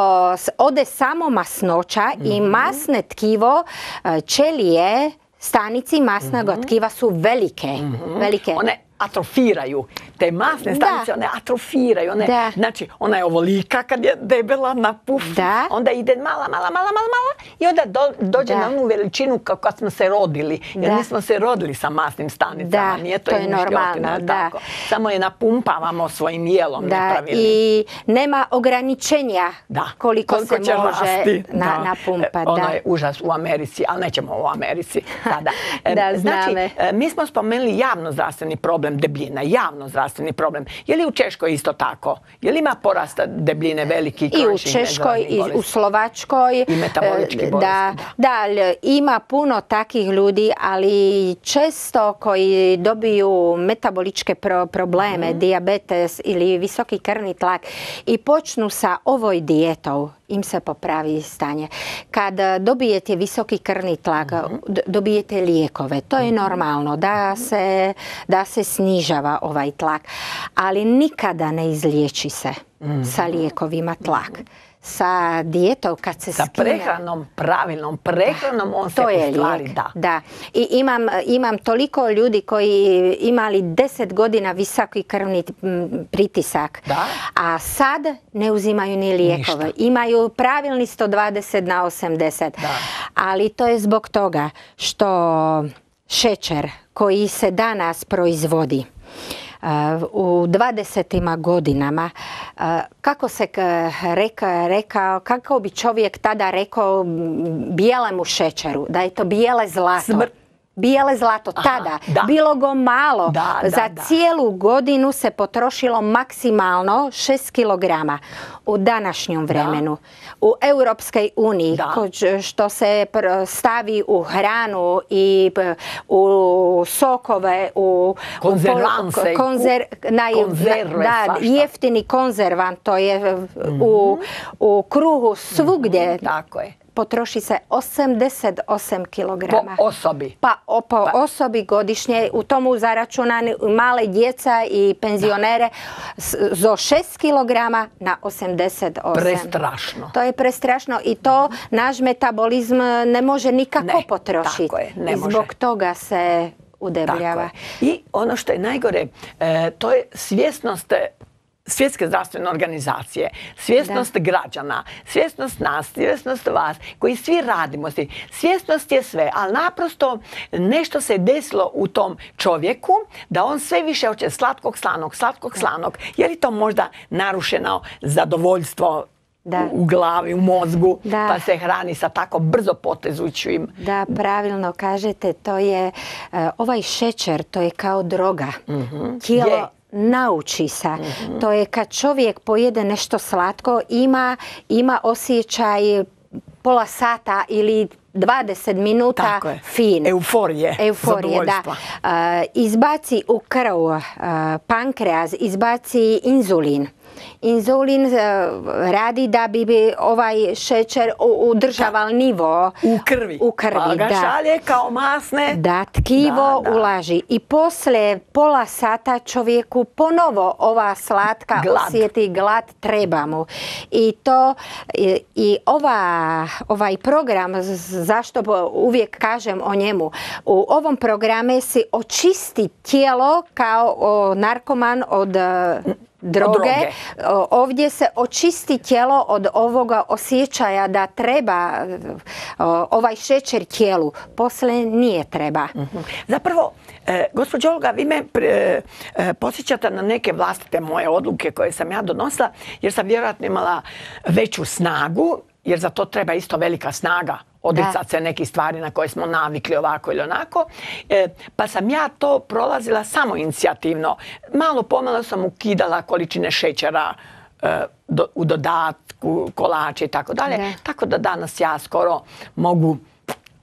ode samo masnoća mm-hmm. i masne tkivo, ćelije, stanici masnog mm-hmm. tkiva su velike. Mm-hmm. velike. One atrofiraju. Te masne stanice, one atrofiraju. One, da. Znači, ona je ovolika kad je debela na puf. Da. Onda ide mala, mala, mala, mala, mala i onda do, dođe da. na onu veličinu kao kad smo se rodili. Jer mi smo se rodili sa masnim stanicama. Da. Nije to, to je normalno. Da. Tako. Samo je napumpavamo svojim jelom. Da. I nema ograničenja da. koliko, koliko se može rasti. Na, da. napumpati. Ono da. je užas u Americi, ali nećemo u Americi sada. da, znači, mi smo spomenuli javno zdravstveni problem debljina, javno zdravstveni problem. Je li u Češkoj isto tako? Je li ima porasta debljine veliki? I u Češkoj, i u Slovačkoj. I metabolički bolesti. Da, da. da, ima puno takih ljudi, ali često koji dobiju metaboličke pro probleme, mm. dijabetes ili visoki krvni tlak i počnu sa ovoj dijetom, im se popravi stanje. Kad dobijete visoki krvni tlak, mm-hmm. dobijete lijekove. To je normalno da se, da se snižava ovaj tlak. Ali nikada ne izliječi se mm-hmm. sa lijekovima tlak. Sa dijetom kad se sa skine. prehranom, pravilnom prehranom, on to se je u stvari lijek. da. da. I imam, imam toliko ljudi koji imali deset godina visoki krvni pritisak, da. a sad ne uzimaju ni lijekove. Ništa. Imaju pravilni sto dvadeset na osamdeset. Da. Ali to je zbog toga što šećer koji se danas proizvodi u dvadesetim godinama, kako se reka, rekao, kako bi čovjek tada rekao bijelemu šećeru, da je to bijele zlato. Smrt. Bijele zlato, aha, tada, da. bilo go malo. Da, da, Za da. cijelu godinu se potrošilo maksimalno šest kilograma u današnjem vremenu. Da. U Europskoj uniji, što se stavi u hranu i u sokove, u konzervanse, konzer, naj, konzerve, da, jeftini konzervant, to je mm-hmm. u, u kruhu svugdje. Mm-hmm. Tako je. Potroši se osamdeset osam kilograma. Po osobi? Pa o, po pa. osobi godišnje. U tomu zaračunani male djeca i penzionere za šest kilograma na osamdeset osam. Prestrašno. To je prestrašno i to naš metabolizm ne može nikako ne, potrošiti. Tako je, ne I može. Zbog toga se udebljava. I ono što je najgore, e, to je svjesnost Svjetske zdravstvene organizacije, svjesnost da. građana, svjesnost nas, svjesnost vas, koji svi radimo. Svjesnost je sve, ali naprosto nešto se desilo u tom čovjeku da on sve više hoće slatkog, slanog, slatkog, slanog. Je li to možda narušeno zadovoljstvo da. u glavi, u mozgu, da. pa se hrani sa tako brzo potezućim? Da, pravilno kažete, to je, uh, ovaj šećer, to je kao droga. Mm-hmm. Kilo... Je. Nauči se. Mm-hmm. To je kad čovjek pojede nešto slatko, ima, ima osjećaj pola sata ili dvadeset minuta fin. Euforije. Euforije, da. Uh, izbaci u krv uh, pankreas, izbaci inzulin. Inzulin uh, radi da bi, bi ovaj šećer udržaval nivo u krvi. U krvi, pa ga da. šalje kao masne. Da, tkivo da, da. ulaži. I poslije pola sata čovjeku ponovo ova slatka glad. osjeti glad, treba mu. I to i, i ova, ovaj program, zašto uvijek kažem o njemu, u ovom programu se očisti tijelo kao o narkoman od droge. droge. Ovdje se očisti tijelo od ovoga osjećaja da treba ovaj šećer tijelu. Poslije nije treba. Mm-hmm. Zapravo, e, gospođo Olga, vi me pre, e, podsjećate na neke vlastite moje odluke koje sam ja donosila, jer sam vjerojatno imala veću snagu, jer za to treba isto velika snaga. Odricati se nekih stvari na koje smo navikli ovako ili onako. E, pa sam ja to prolazila samo inicijativno. Malo pomalo sam ukidala količine šećera e, do, u dodatku, kolače i tako dalje. Tako da danas ja skoro mogu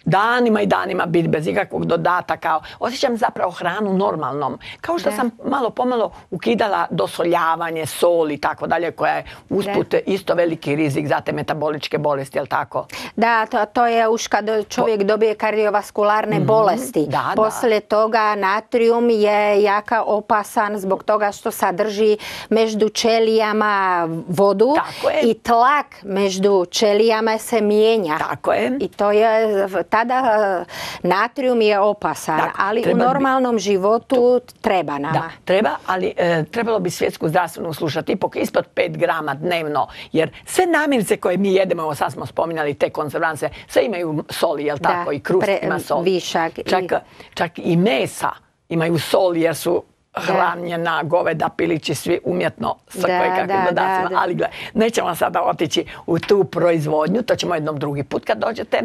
danima i danima biti bez ikakvog dodataka. Osjećam zapravo hranu normalnom. Kao što da. sam malo pomalo ukidala dosoljavanje, sol i tako dalje, koja je usput da. isto veliki rizik za te metaboličke bolesti, jel tako? Da, to, to je už kad čovjek po... dobije kardiovaskularne mm-hmm. bolesti. Da, Poslije da. toga natrium je jaka opasan zbog toga što sadrži među ćelijama vodu i tlak među ćelijama se mijenja. Tako je. I to je... Tada natrium je opasan, dakle, ali u normalnom bi... životu to... treba nama. Da, treba, ali e, trebalo bi svjetsku zdravstvenu slušati ipak ispod pet grama dnevno, jer sve namirnice koje mi jedemo, evo sad smo spominjali te konzervanse, sve imaju soli, jel tako? Da, i krust pre, ima sol. Višak. Čak, i... čak i mesa imaju sol jer su hranjena goveda, pilići, svi umjetno sa kojekakvim dodacima. Da, da. Ali gledaj, nećemo sada otići u tu proizvodnju, to ćemo jednom drugi put kad dođete,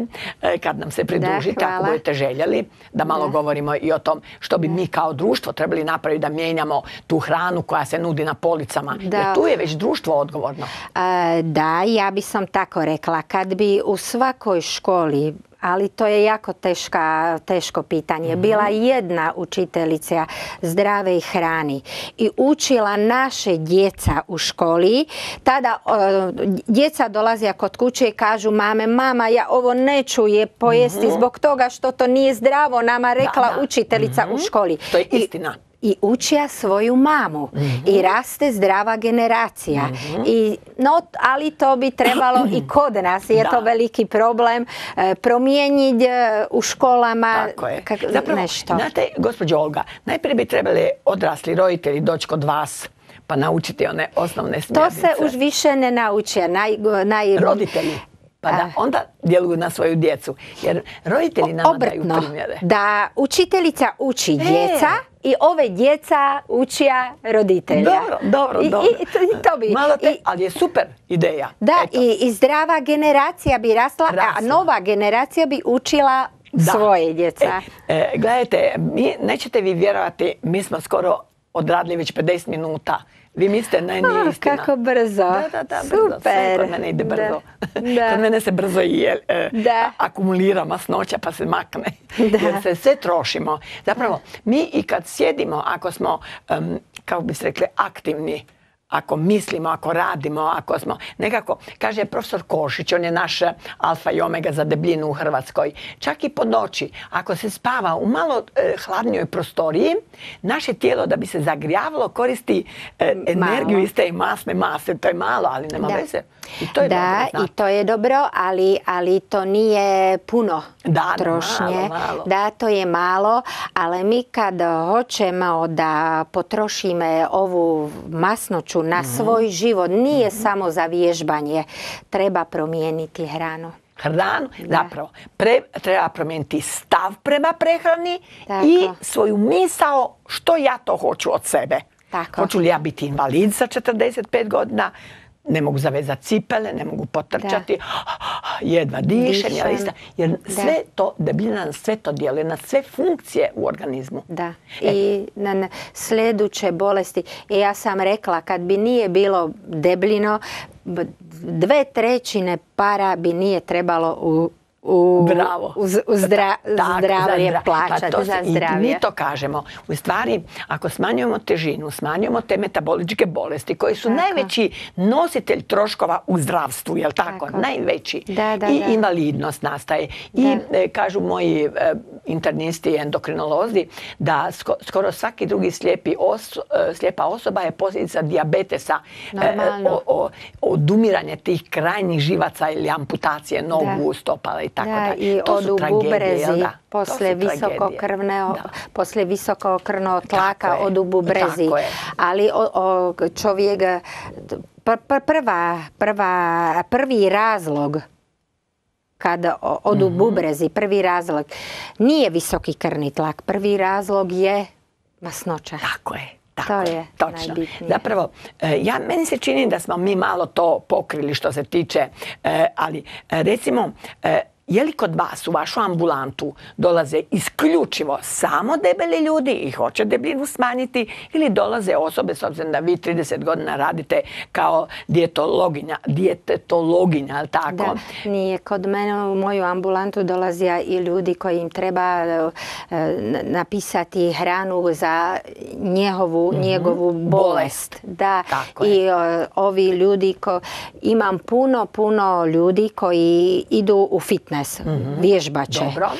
kad nam se pridružite, da, ako budete željeli, da malo da. govorimo i o tom što bi da. mi kao društvo trebali napraviti da mijenjamo tu hranu koja se nudi na policama. Da. Jer tu je već društvo odgovorno. E, da, ja bi sam tako rekla. Kad bi u svakoj školi, ali to je jako teška, teško pitanje. Mm-hmm. Bila jedna učiteljica zdrave hrani i učila naše djeca u školi. Tada uh, djeca dolaze kod kuće i kažu mame, mama, ja ovo neću je pojesti mm-hmm. zbog toga što to nije zdravo, nama rekla da, da. učiteljica mm-hmm. u školi. To je istina. I, I učija svoju mamu mm-hmm. i raste zdrava generacija. Mm-hmm. I, no, ali to bi trebalo i kod nas, je da. to veliki problem, e, promijeniti e, u školama. Tako je. Kak, Zapravo, nešto. Znate, gospođo Olga, najprije bi trebali odrasli roditelji doći kod vas pa naučiti one osnovne smjernice. To se už više ne nauče. Naj, naj... Roditelji. Pa da onda djeluju na svoju djecu. Jer roditelji nama Obratno, daju primjere. Da učiteljica uči e. djeca i ove djeca učija roditelja. Dobro, dobro, I, dobro. I, i to bi. Malo te, I, ali je super ideja. Da, i, i zdrava generacija bi rasla, rasla, a nova generacija bi učila da. svoje djeca. E, e, gledajte, mi, nećete vi vjerovati, mi smo skoro odradili već pedeset minuta. Vi mislite, ne, nije oh, istina. Kako brzo. Da, da, da, brzo. Super. Sve kod mene ide brzo. Da. Kod mene se brzo je, e, akumulira masnoća pa se makne. Da. Jer se sve trošimo. Zapravo, mi i kad sjedimo, ako smo, um, kako bi se rekli, aktivni, ako mislimo, ako radimo, ako smo nekako, kaže profesor Košić, on je naš alfa i omega za debljinu u Hrvatskoj, čak i po noći, ako se spava u malo e, hladnijoj prostoriji, naše tijelo da bi se zagrijavalo koristi e, energiju iz te masne mase, to je malo, ali nema veze. I to je da, dobro, i to je dobro, ali, ali to nije puno da, trošnje. Malo, malo. Da, to je malo, ali mi kad hoćemo da potrošimo ovu masnoću na mm-hmm. svoj život, nije mm-hmm. samo za vježbanje, treba promijeniti hranu. Hranu, da. zapravo, pre, treba promijeniti stav prema prehrani Tako. i svoju misao što ja to hoću od sebe. Tako. Hoću li ja biti invalid sa četrdeset pet godina, ne mogu zavezati cipele, ne mogu potrčati, da. jedva dišem, dišem. jer sve da. to, debljina sve to djeluje na sve funkcije u organizmu. Da, e. i na sljedeće bolesti. I ja sam rekla, kad bi nije bilo debljino, dve trećine para bi nije trebalo u U, Bravo. U, u zdra, tak, zdravlje za, plaćati pa za zdravlje. I mi to kažemo. U stvari, ako smanjujemo težinu, smanjujemo te metaboličke bolesti koji su tako. najveći nositelj troškova u zdravstvu, jel tako? tako. Najveći. Da, da, I da. invalidnost nastaje. Da. I e, kažu moji e, internisti i endokrinolozi da sko, skoro svaki drugi slijepi os, e, slijepa osoba je posljedica dijabetesa, e, odumiranje tih krajnjih živaca ili amputacije nogu, da. stopala i i tako da, dalje. I to su odu tragedije, bubrezi, da? posle visokokrvne, posle visokokrvnog tlaka odu bubrezi. Ali o, o, čovjek, pr, pr, prva, prva, prvi razlog kada odu mm-hmm. bubrezi, prvi razlog nije visoki krvni tlak, prvi razlog je masnoća. Tako je. Tako to je točno. Najbitnije. Zapravo, ja, meni se čini da smo mi malo to pokrili što se tiče, ali recimo, je li kod vas u vašu ambulantu dolaze isključivo samo debeli ljudi i hoće debljinu smanjiti ili dolaze osobe, s obzirom da vi trideset godina radite kao dijetologinja, dijetetologinja, ali tako? Da, nije. Kod mene u moju ambulantu dolaze i ljudi koji im treba napisati hranu za njegovu, mm-hmm. njegovu bolest. Da. Tako I je. ovi ljudi, ko, imam puno, puno ljudi koji idu u fitness. Mm-hmm. Vježbače. Dobro.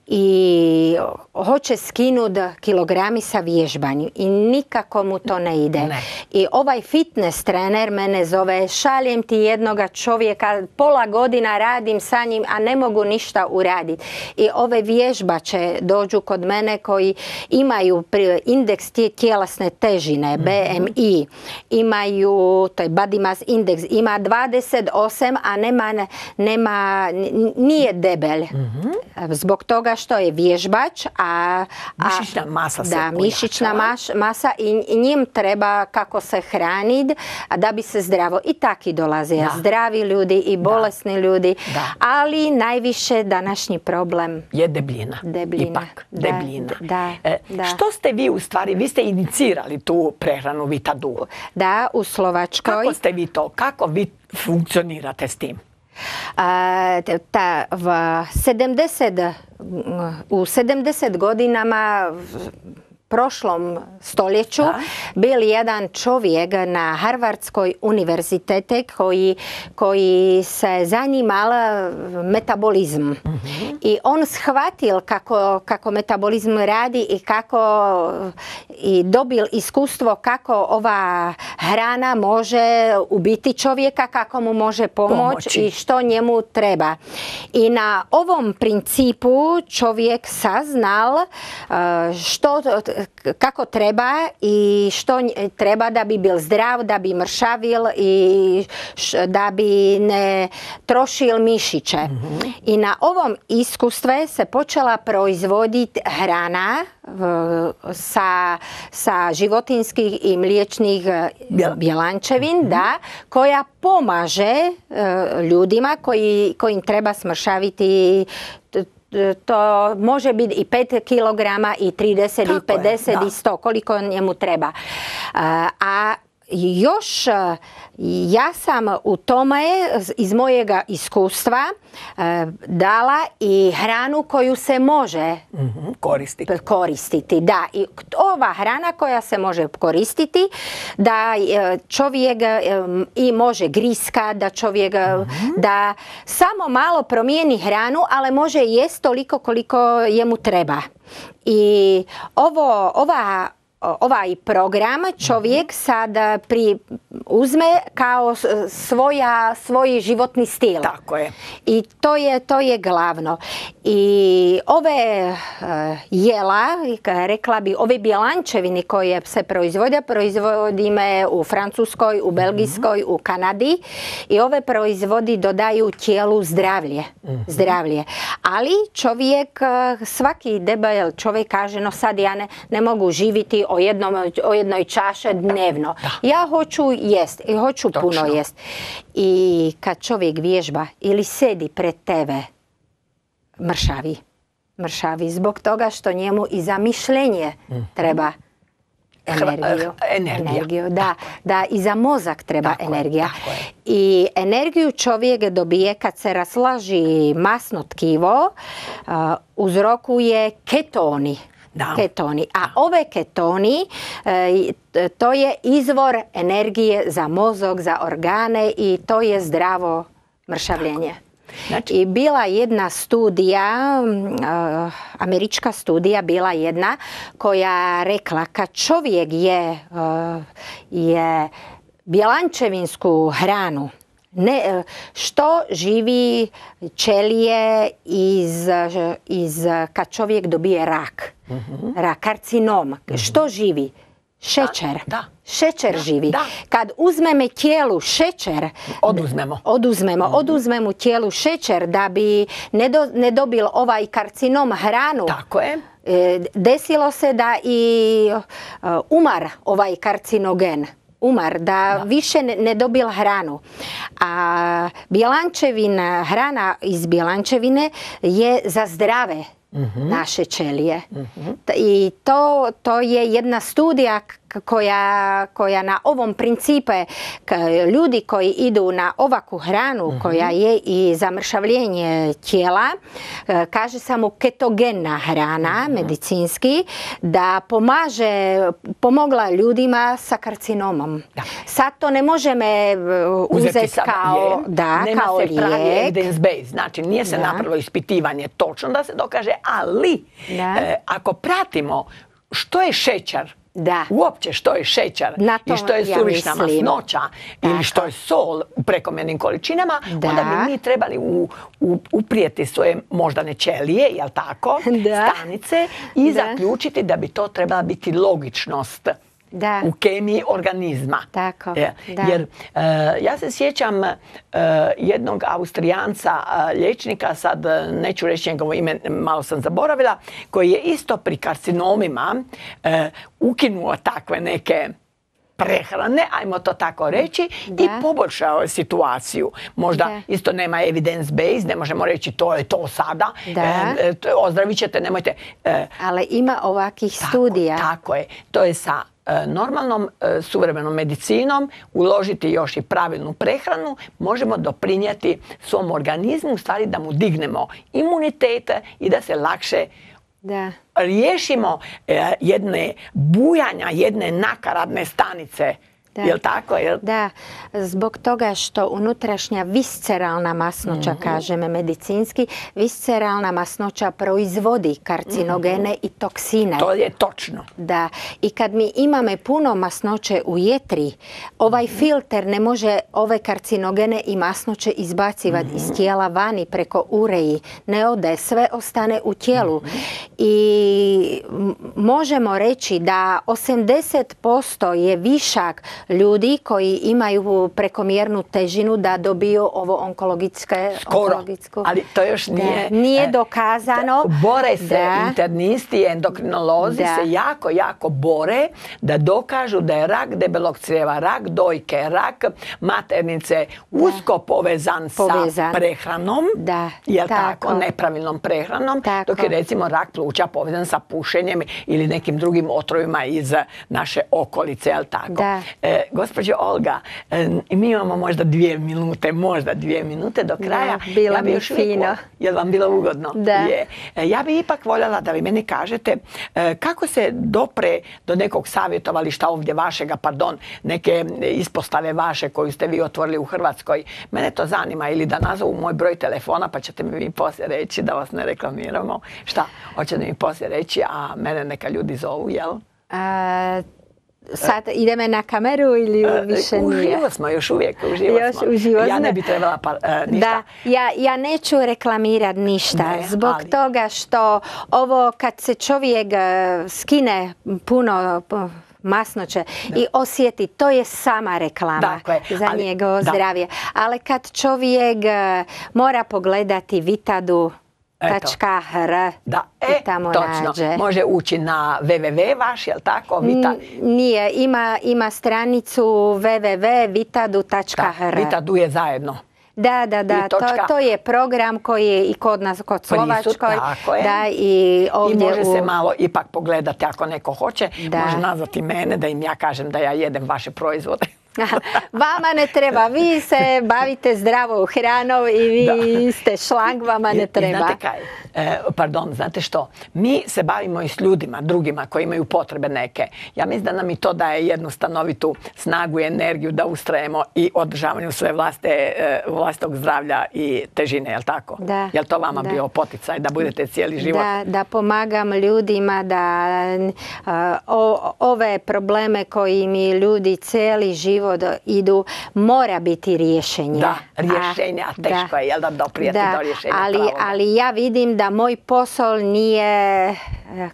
I hoće skinuti kilogrami sa vježbanju i nikako mu to ne ide. Ne. I ovaj fitness trener mene zove, šaljem ti jednoga čovjeka, pola godina radim sa njim, a ne mogu ništa uraditi. I ove vježbače dođu kod mene koji imaju indeks tjelesne težine, B M I, imaju, to je body mass index, ima dvadeset osam, a nema, nema nije debel. Mm-hmm. Zbog toga što je vježbač, a, a mišićna masa se da, mišićna maš, masa i njim treba kako se hraniti da bi se zdravo. I taki dolaze da. Zdravi ljudi i bolesni da. Ljudi, da. Ali najviše današnji problem je debljina. Debljina. Ipak, da, debljina. Da, e, da. Što ste vi u stvari, vi ste inicirali tu prehranu Vitadu? Da, u Slovačkoj. Kako ste vi to, kako vi funkcionirate s tim? A, ta, v sedemdeset, u sedamdeset godinama prošlom stoljeću da. Bil jedan čovjek na Harvardskoj univerzitete koji, koji se zanimal metabolizm. Mm-hmm. I on shvatil kako, kako metabolizm radi i kako i dobil iskustvo kako ova hrana može ubiti čovjeka, kako mu može pomoći i što njemu treba. I na ovom principu čovjek saznal što kako treba i što treba da bi bil zdrav, da bi mršavil i da bi ne trošil mišiće. Mm-hmm. I na ovom iskustve se počela proizvoditi hrana sa, sa životinskih i mliječnih bjelančevin, mm-hmm. da, koja pomaže uh, ljudima koji, kojim treba smršaviti. To može biti i pet kilograma i trideset i pedeset i sto, koliko njemu treba. A još ja sam u tome iz mojega iskustva dala i hranu koju se može mm-hmm, koristiti. koristiti. Da, i ova hrana koja se može koristiti, da čovjek i može griska, da čovjek mm-hmm. da samo malo promijeni hranu, ali može jesti toliko koliko jemu treba. I ovo, ova ovaj program čovjek sad pri, uzme kao svoja, svoj životni stil. Tako je. I to je, to je glavno. I ove uh, jela, rekla bi, ove bjelančevine koje se proizvode, proizvodime u Francuskoj, u Belgijskoj, mm-hmm. u Kanadi. I ove proizvodi dodaju tijelu zdravlje. Mm-hmm. zdravlje. Ali čovjek, svaki debel čovjek kaže, no sad ja ne, ne mogu živjeti o, jednom, o jednoj čaše dnevno. Da. Ja hoću jest i hoću Točno. puno jest. I kad čovjek vježba ili sedi pred tebe, mršavi. Mršavi zbog toga što njemu i za mišljenje mm. treba energiju. Energija. energiju da, da, i za mozak treba tako energija. Je, tako je. I energiju čovjek dobije kad se raslaži masno tkivo, uh, uzrokuje ketoni. Da. Ketoni. A ove ketoni, uh, to je izvor energije za mozog, za organe i to je zdravo mršavljenje. Znači... I bila jedna studija, uh, američka studija bila jedna koja rekla kad čovjek je, uh, je bjelančevinsku hranu, Ne, što živi ćelije iz, iz, kad čovjek dobije rak, mm-hmm. rak, karcinom, mm-hmm. što živi? Šećer. Da, da. Šećer da, živi. Da. Kad uzmeme tijelu šećer, oduzmemo, oduzmemo, mm-hmm. oduzmemo tijelu šećer da bi ne, do, ne dobil ovaj karcinom hranu. Tako je. Desilo se da i umar ovaj karcinogen. Umar, da, da. više ne, ne dobil hranu. A bjelančevina, hrana iz bjelančevine je za zdrave mm-hmm. naše ćelije. Mm-hmm. I to, to je jedna studija koja, koja na ovom principe ljudi koji idu na ovakvu hranu mm-hmm. koja je i zamršavljenje tijela, kaže samo ketogena hrana mm-hmm. medicinski, da pomaže, pomogla ljudima sa karcinomom. Da. Sad to ne možemo uzeti kao, da, Nema kao se pravi lijek. evidence based, znači nije se da. napravilo ispitivanje točno da se dokaže, ali e, ako pratimo što je šećer, da. uopće što je šećer i što je suvišna ja masnoća Tako. ili što je sol u prekomjernim količinama, da. onda bi mi trebali u, u, uprijeti svoje moždane ćelije, jel tako, da. stanice i da. zaključiti da bi to trebala biti logičnost. Da. U kemiji organizma. Tako, ja. da. Jer uh, ja se sjećam uh, jednog Austrijanca, uh, liječnika, sad uh, neću reći njegovo ime, malo sam zaboravila, koji je isto pri karcinomima uh, ukinuo takve neke prehrane, ajmo to tako reći, da. i poboljšao situaciju. Možda da. isto nema evidence based, ne možemo reći to je to sada, e, ozdravit ćete, nemojte. E, Ali ima ovakvih tako, studija. Tako je. To je sa e, normalnom e, suvremenom medicinom, uložiti još i pravilnu prehranu, možemo doprinijeti svom organizmu, u stvari da mu dignemo imunitet i da se lakše Da. riješimo e, jedne bujanja, jedne nakaradne stanice. Da. Jel tako? Jel? Da, zbog toga što unutrašnja visceralna masnoća, mm-hmm. kažeme medicinski, visceralna masnoća proizvodi karcinogene mm-hmm. i toksine. To je točno. Da, i kad mi imamo puno masnoće u jetri, ovaj mm-hmm. filter ne može ove karcinogene i masnoće izbacivati mm-hmm. iz tijela vani preko ureji. Ne ode, sve ostane u tijelu. Mm-hmm. I možemo reći da osamdeset posto je višak ljudi koji imaju prekomjernu težinu da dobiju ovo onkologičke... Skoro, ali to još nije... Da, nije dokazano. Da, bore se da. internisti, endokrinolozi da. se jako, jako bore da dokažu da je rak debelog crijeva, rak dojke, rak maternice usko povezan, povezan sa prehranom, da. jel tako. tako, nepravilnom prehranom, tako. dok je recimo rak pluća povezan sa pušenjem ili nekim drugim otrovima iz naše okolice, jel tako. Da. E, Gospođo Olga, mi imamo možda dvije minute, možda dvije minute do kraja. Da, bilo ja bi mi još fino. Uvijek, je li vam bilo ugodno? Da. Je. Ja bi ipak voljela da vi meni kažete kako se dopre do nekog savjetovališta ovdje vašega, pardon, neke ispostave vaše koju ste vi otvorili u Hrvatskoj. Mene to zanima, ili da nazovu moj broj telefona pa ćete mi poslije reći da vas ne reklamiramo. Šta? Hoćete mi poslije reći, a mene neka ljudi zovu, jel? A... Sad ideme na kameru ili više nije? Uživo smo, još uvijek uživo još smo. Uživo ja ne bi trebala pa, uh, ništa. Da, ja, ja neću reklamirati ništa. Ne, zbog ali... toga što ovo kad se čovjek uh, skine puno... Uh, masnoće da. i osjeti, to je sama reklama dakle, za ali, njegovo da. zdravlje. Ali kad čovjek uh, mora pogledati Vitadu Tačka hr da, e, tamo točno. nađe. Može ući na www vaš, jel tako? Vita... Nije, ima, ima stranicu www vitadu tačka hr. Vitadu je zajedno. Da, da, da, to, to je program koji je i kod nas, kod Slovačkoj. Da, i ovdje I može u... se malo ipak pogledati ako neko hoće. Da. Može nazvati mene da im ja kažem da ja jedem vaše proizvode. Vama ne treba, vi se bavite zdravom hranom i vi da. ste šlang, vama ne treba. I znate kaj, e, pardon, znate što, mi se bavimo i s ljudima, drugima koji imaju potrebe neke. Ja mislim da nam i to daje jednu stanovitu snagu i energiju da ustrajemo i održavanju sve vlaste, e, vlastog zdravlja i težine, jel tako? Da. Jel to vama da. bio poticaj da budete cijeli život? Da, da pomagam ljudima da uh, o, ove probleme koji mi ljudi cijeli život život idu, mora biti rješenje. Da, rješenje, a teško je, jel da, doprijeti do rješenja ali, ali ja vidim da moj posao nije...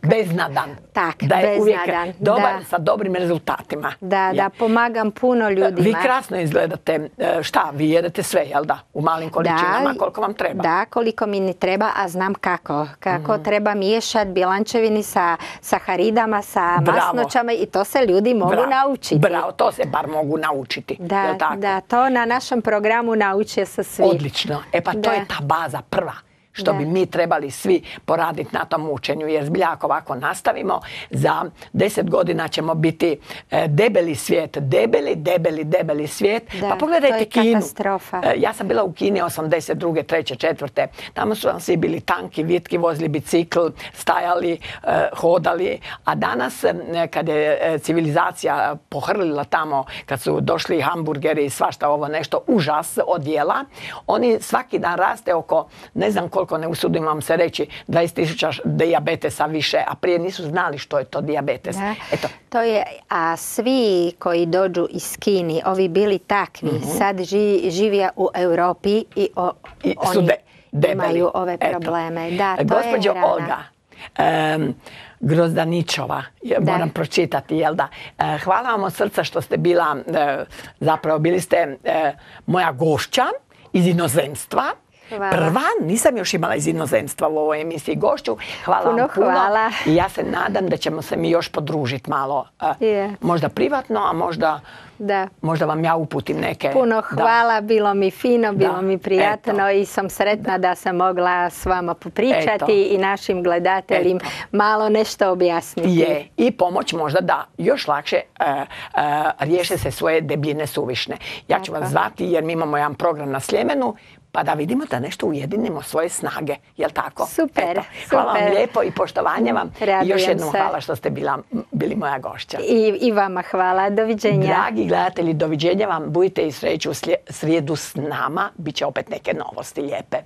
beznadan. Tak, da je beznadan. uvijek dobar da. sa dobrim rezultatima. Da, ja. da pomagam puno ljudima. Vi krasno izgledate. Šta, vi jedete sve, jel da? U malim količinama, da, koliko vam treba? Da, koliko mi ne treba, a znam kako. Kako mm. treba miješati bilančevini sa saharidama, sa Bravo. masnoćama i to se ljudi mogu Bravo. naučiti. Bravo, to se bar mogu naučiti. Da, jel tako? da, to na našem programu nauče se svi. Odlično. E pa to da. je ta baza prva. Što da. bi mi trebali svi poraditi na tom učenju, jer zbilja ako ovako nastavimo, za deset godina ćemo biti e, debeli svijet, debeli, debeli, debeli svijet. Da, pa pogledajte to je Kinu. Katastrofa. E, ja sam bila u Kini osamdeset druge, treće, četvrte. Tamo su vam svi bili tanki, vitki, vozili bicikl, stajali, e, hodali. A danas, e, kad je e, civilizacija pohrlila tamo, kad su došli hamburgeri i svašta ovo nešto, užas odjela, oni svaki dan raste oko, ne znam koliko koliko ne usudim vam se reći, dvadeset tisuća dijabetesa više, a prije nisu znali što je to dijabetes. Da, Eto. To je, a svi koji dođu iz Kini, ovi bili takvi, mm-hmm. sad ži, živija u Europi i, o, I oni su de, debeli. imaju ove probleme. Da, to Gospođo je rana. Olga, um, Grozdaničova, da. moram pročitati, jel da? E, hvala vam od srca što ste bila, e, zapravo bili ste e, moja gošća iz inozemstva. Hvala. Prva, nisam još imala iz inozemstva u ovoj emisiji gošću. Hvala puno vam puno. Hvala. I ja se nadam da ćemo se mi još podružiti malo. Yeah. Možda privatno, a možda, da. možda vam ja uputim neke. Puno hvala, da. bilo mi fino, bilo da. mi prijatno. Eto. I sam sretna da. da sam mogla s vama popričati Eto. i našim gledateljima Eto. malo nešto objasniti. Je, i pomoć možda da još lakše uh, uh, riješe se svoje debljine suvišne. Ja ću Tako. vas zvati jer mi imamo jedan program na Sljemenu, pa da vidimo da nešto ujedinimo svoje snage, jel tako? Super, Eto, super. Hvala vam lijepo i poštovanje vam. Radujem I još jednom se. hvala što ste bila, bili moja gošća. I, I vama hvala, doviđenja. Dragi gledatelji, doviđenja vam, budite i sreću u srijedu s nama, bit će opet neke novosti lijepe.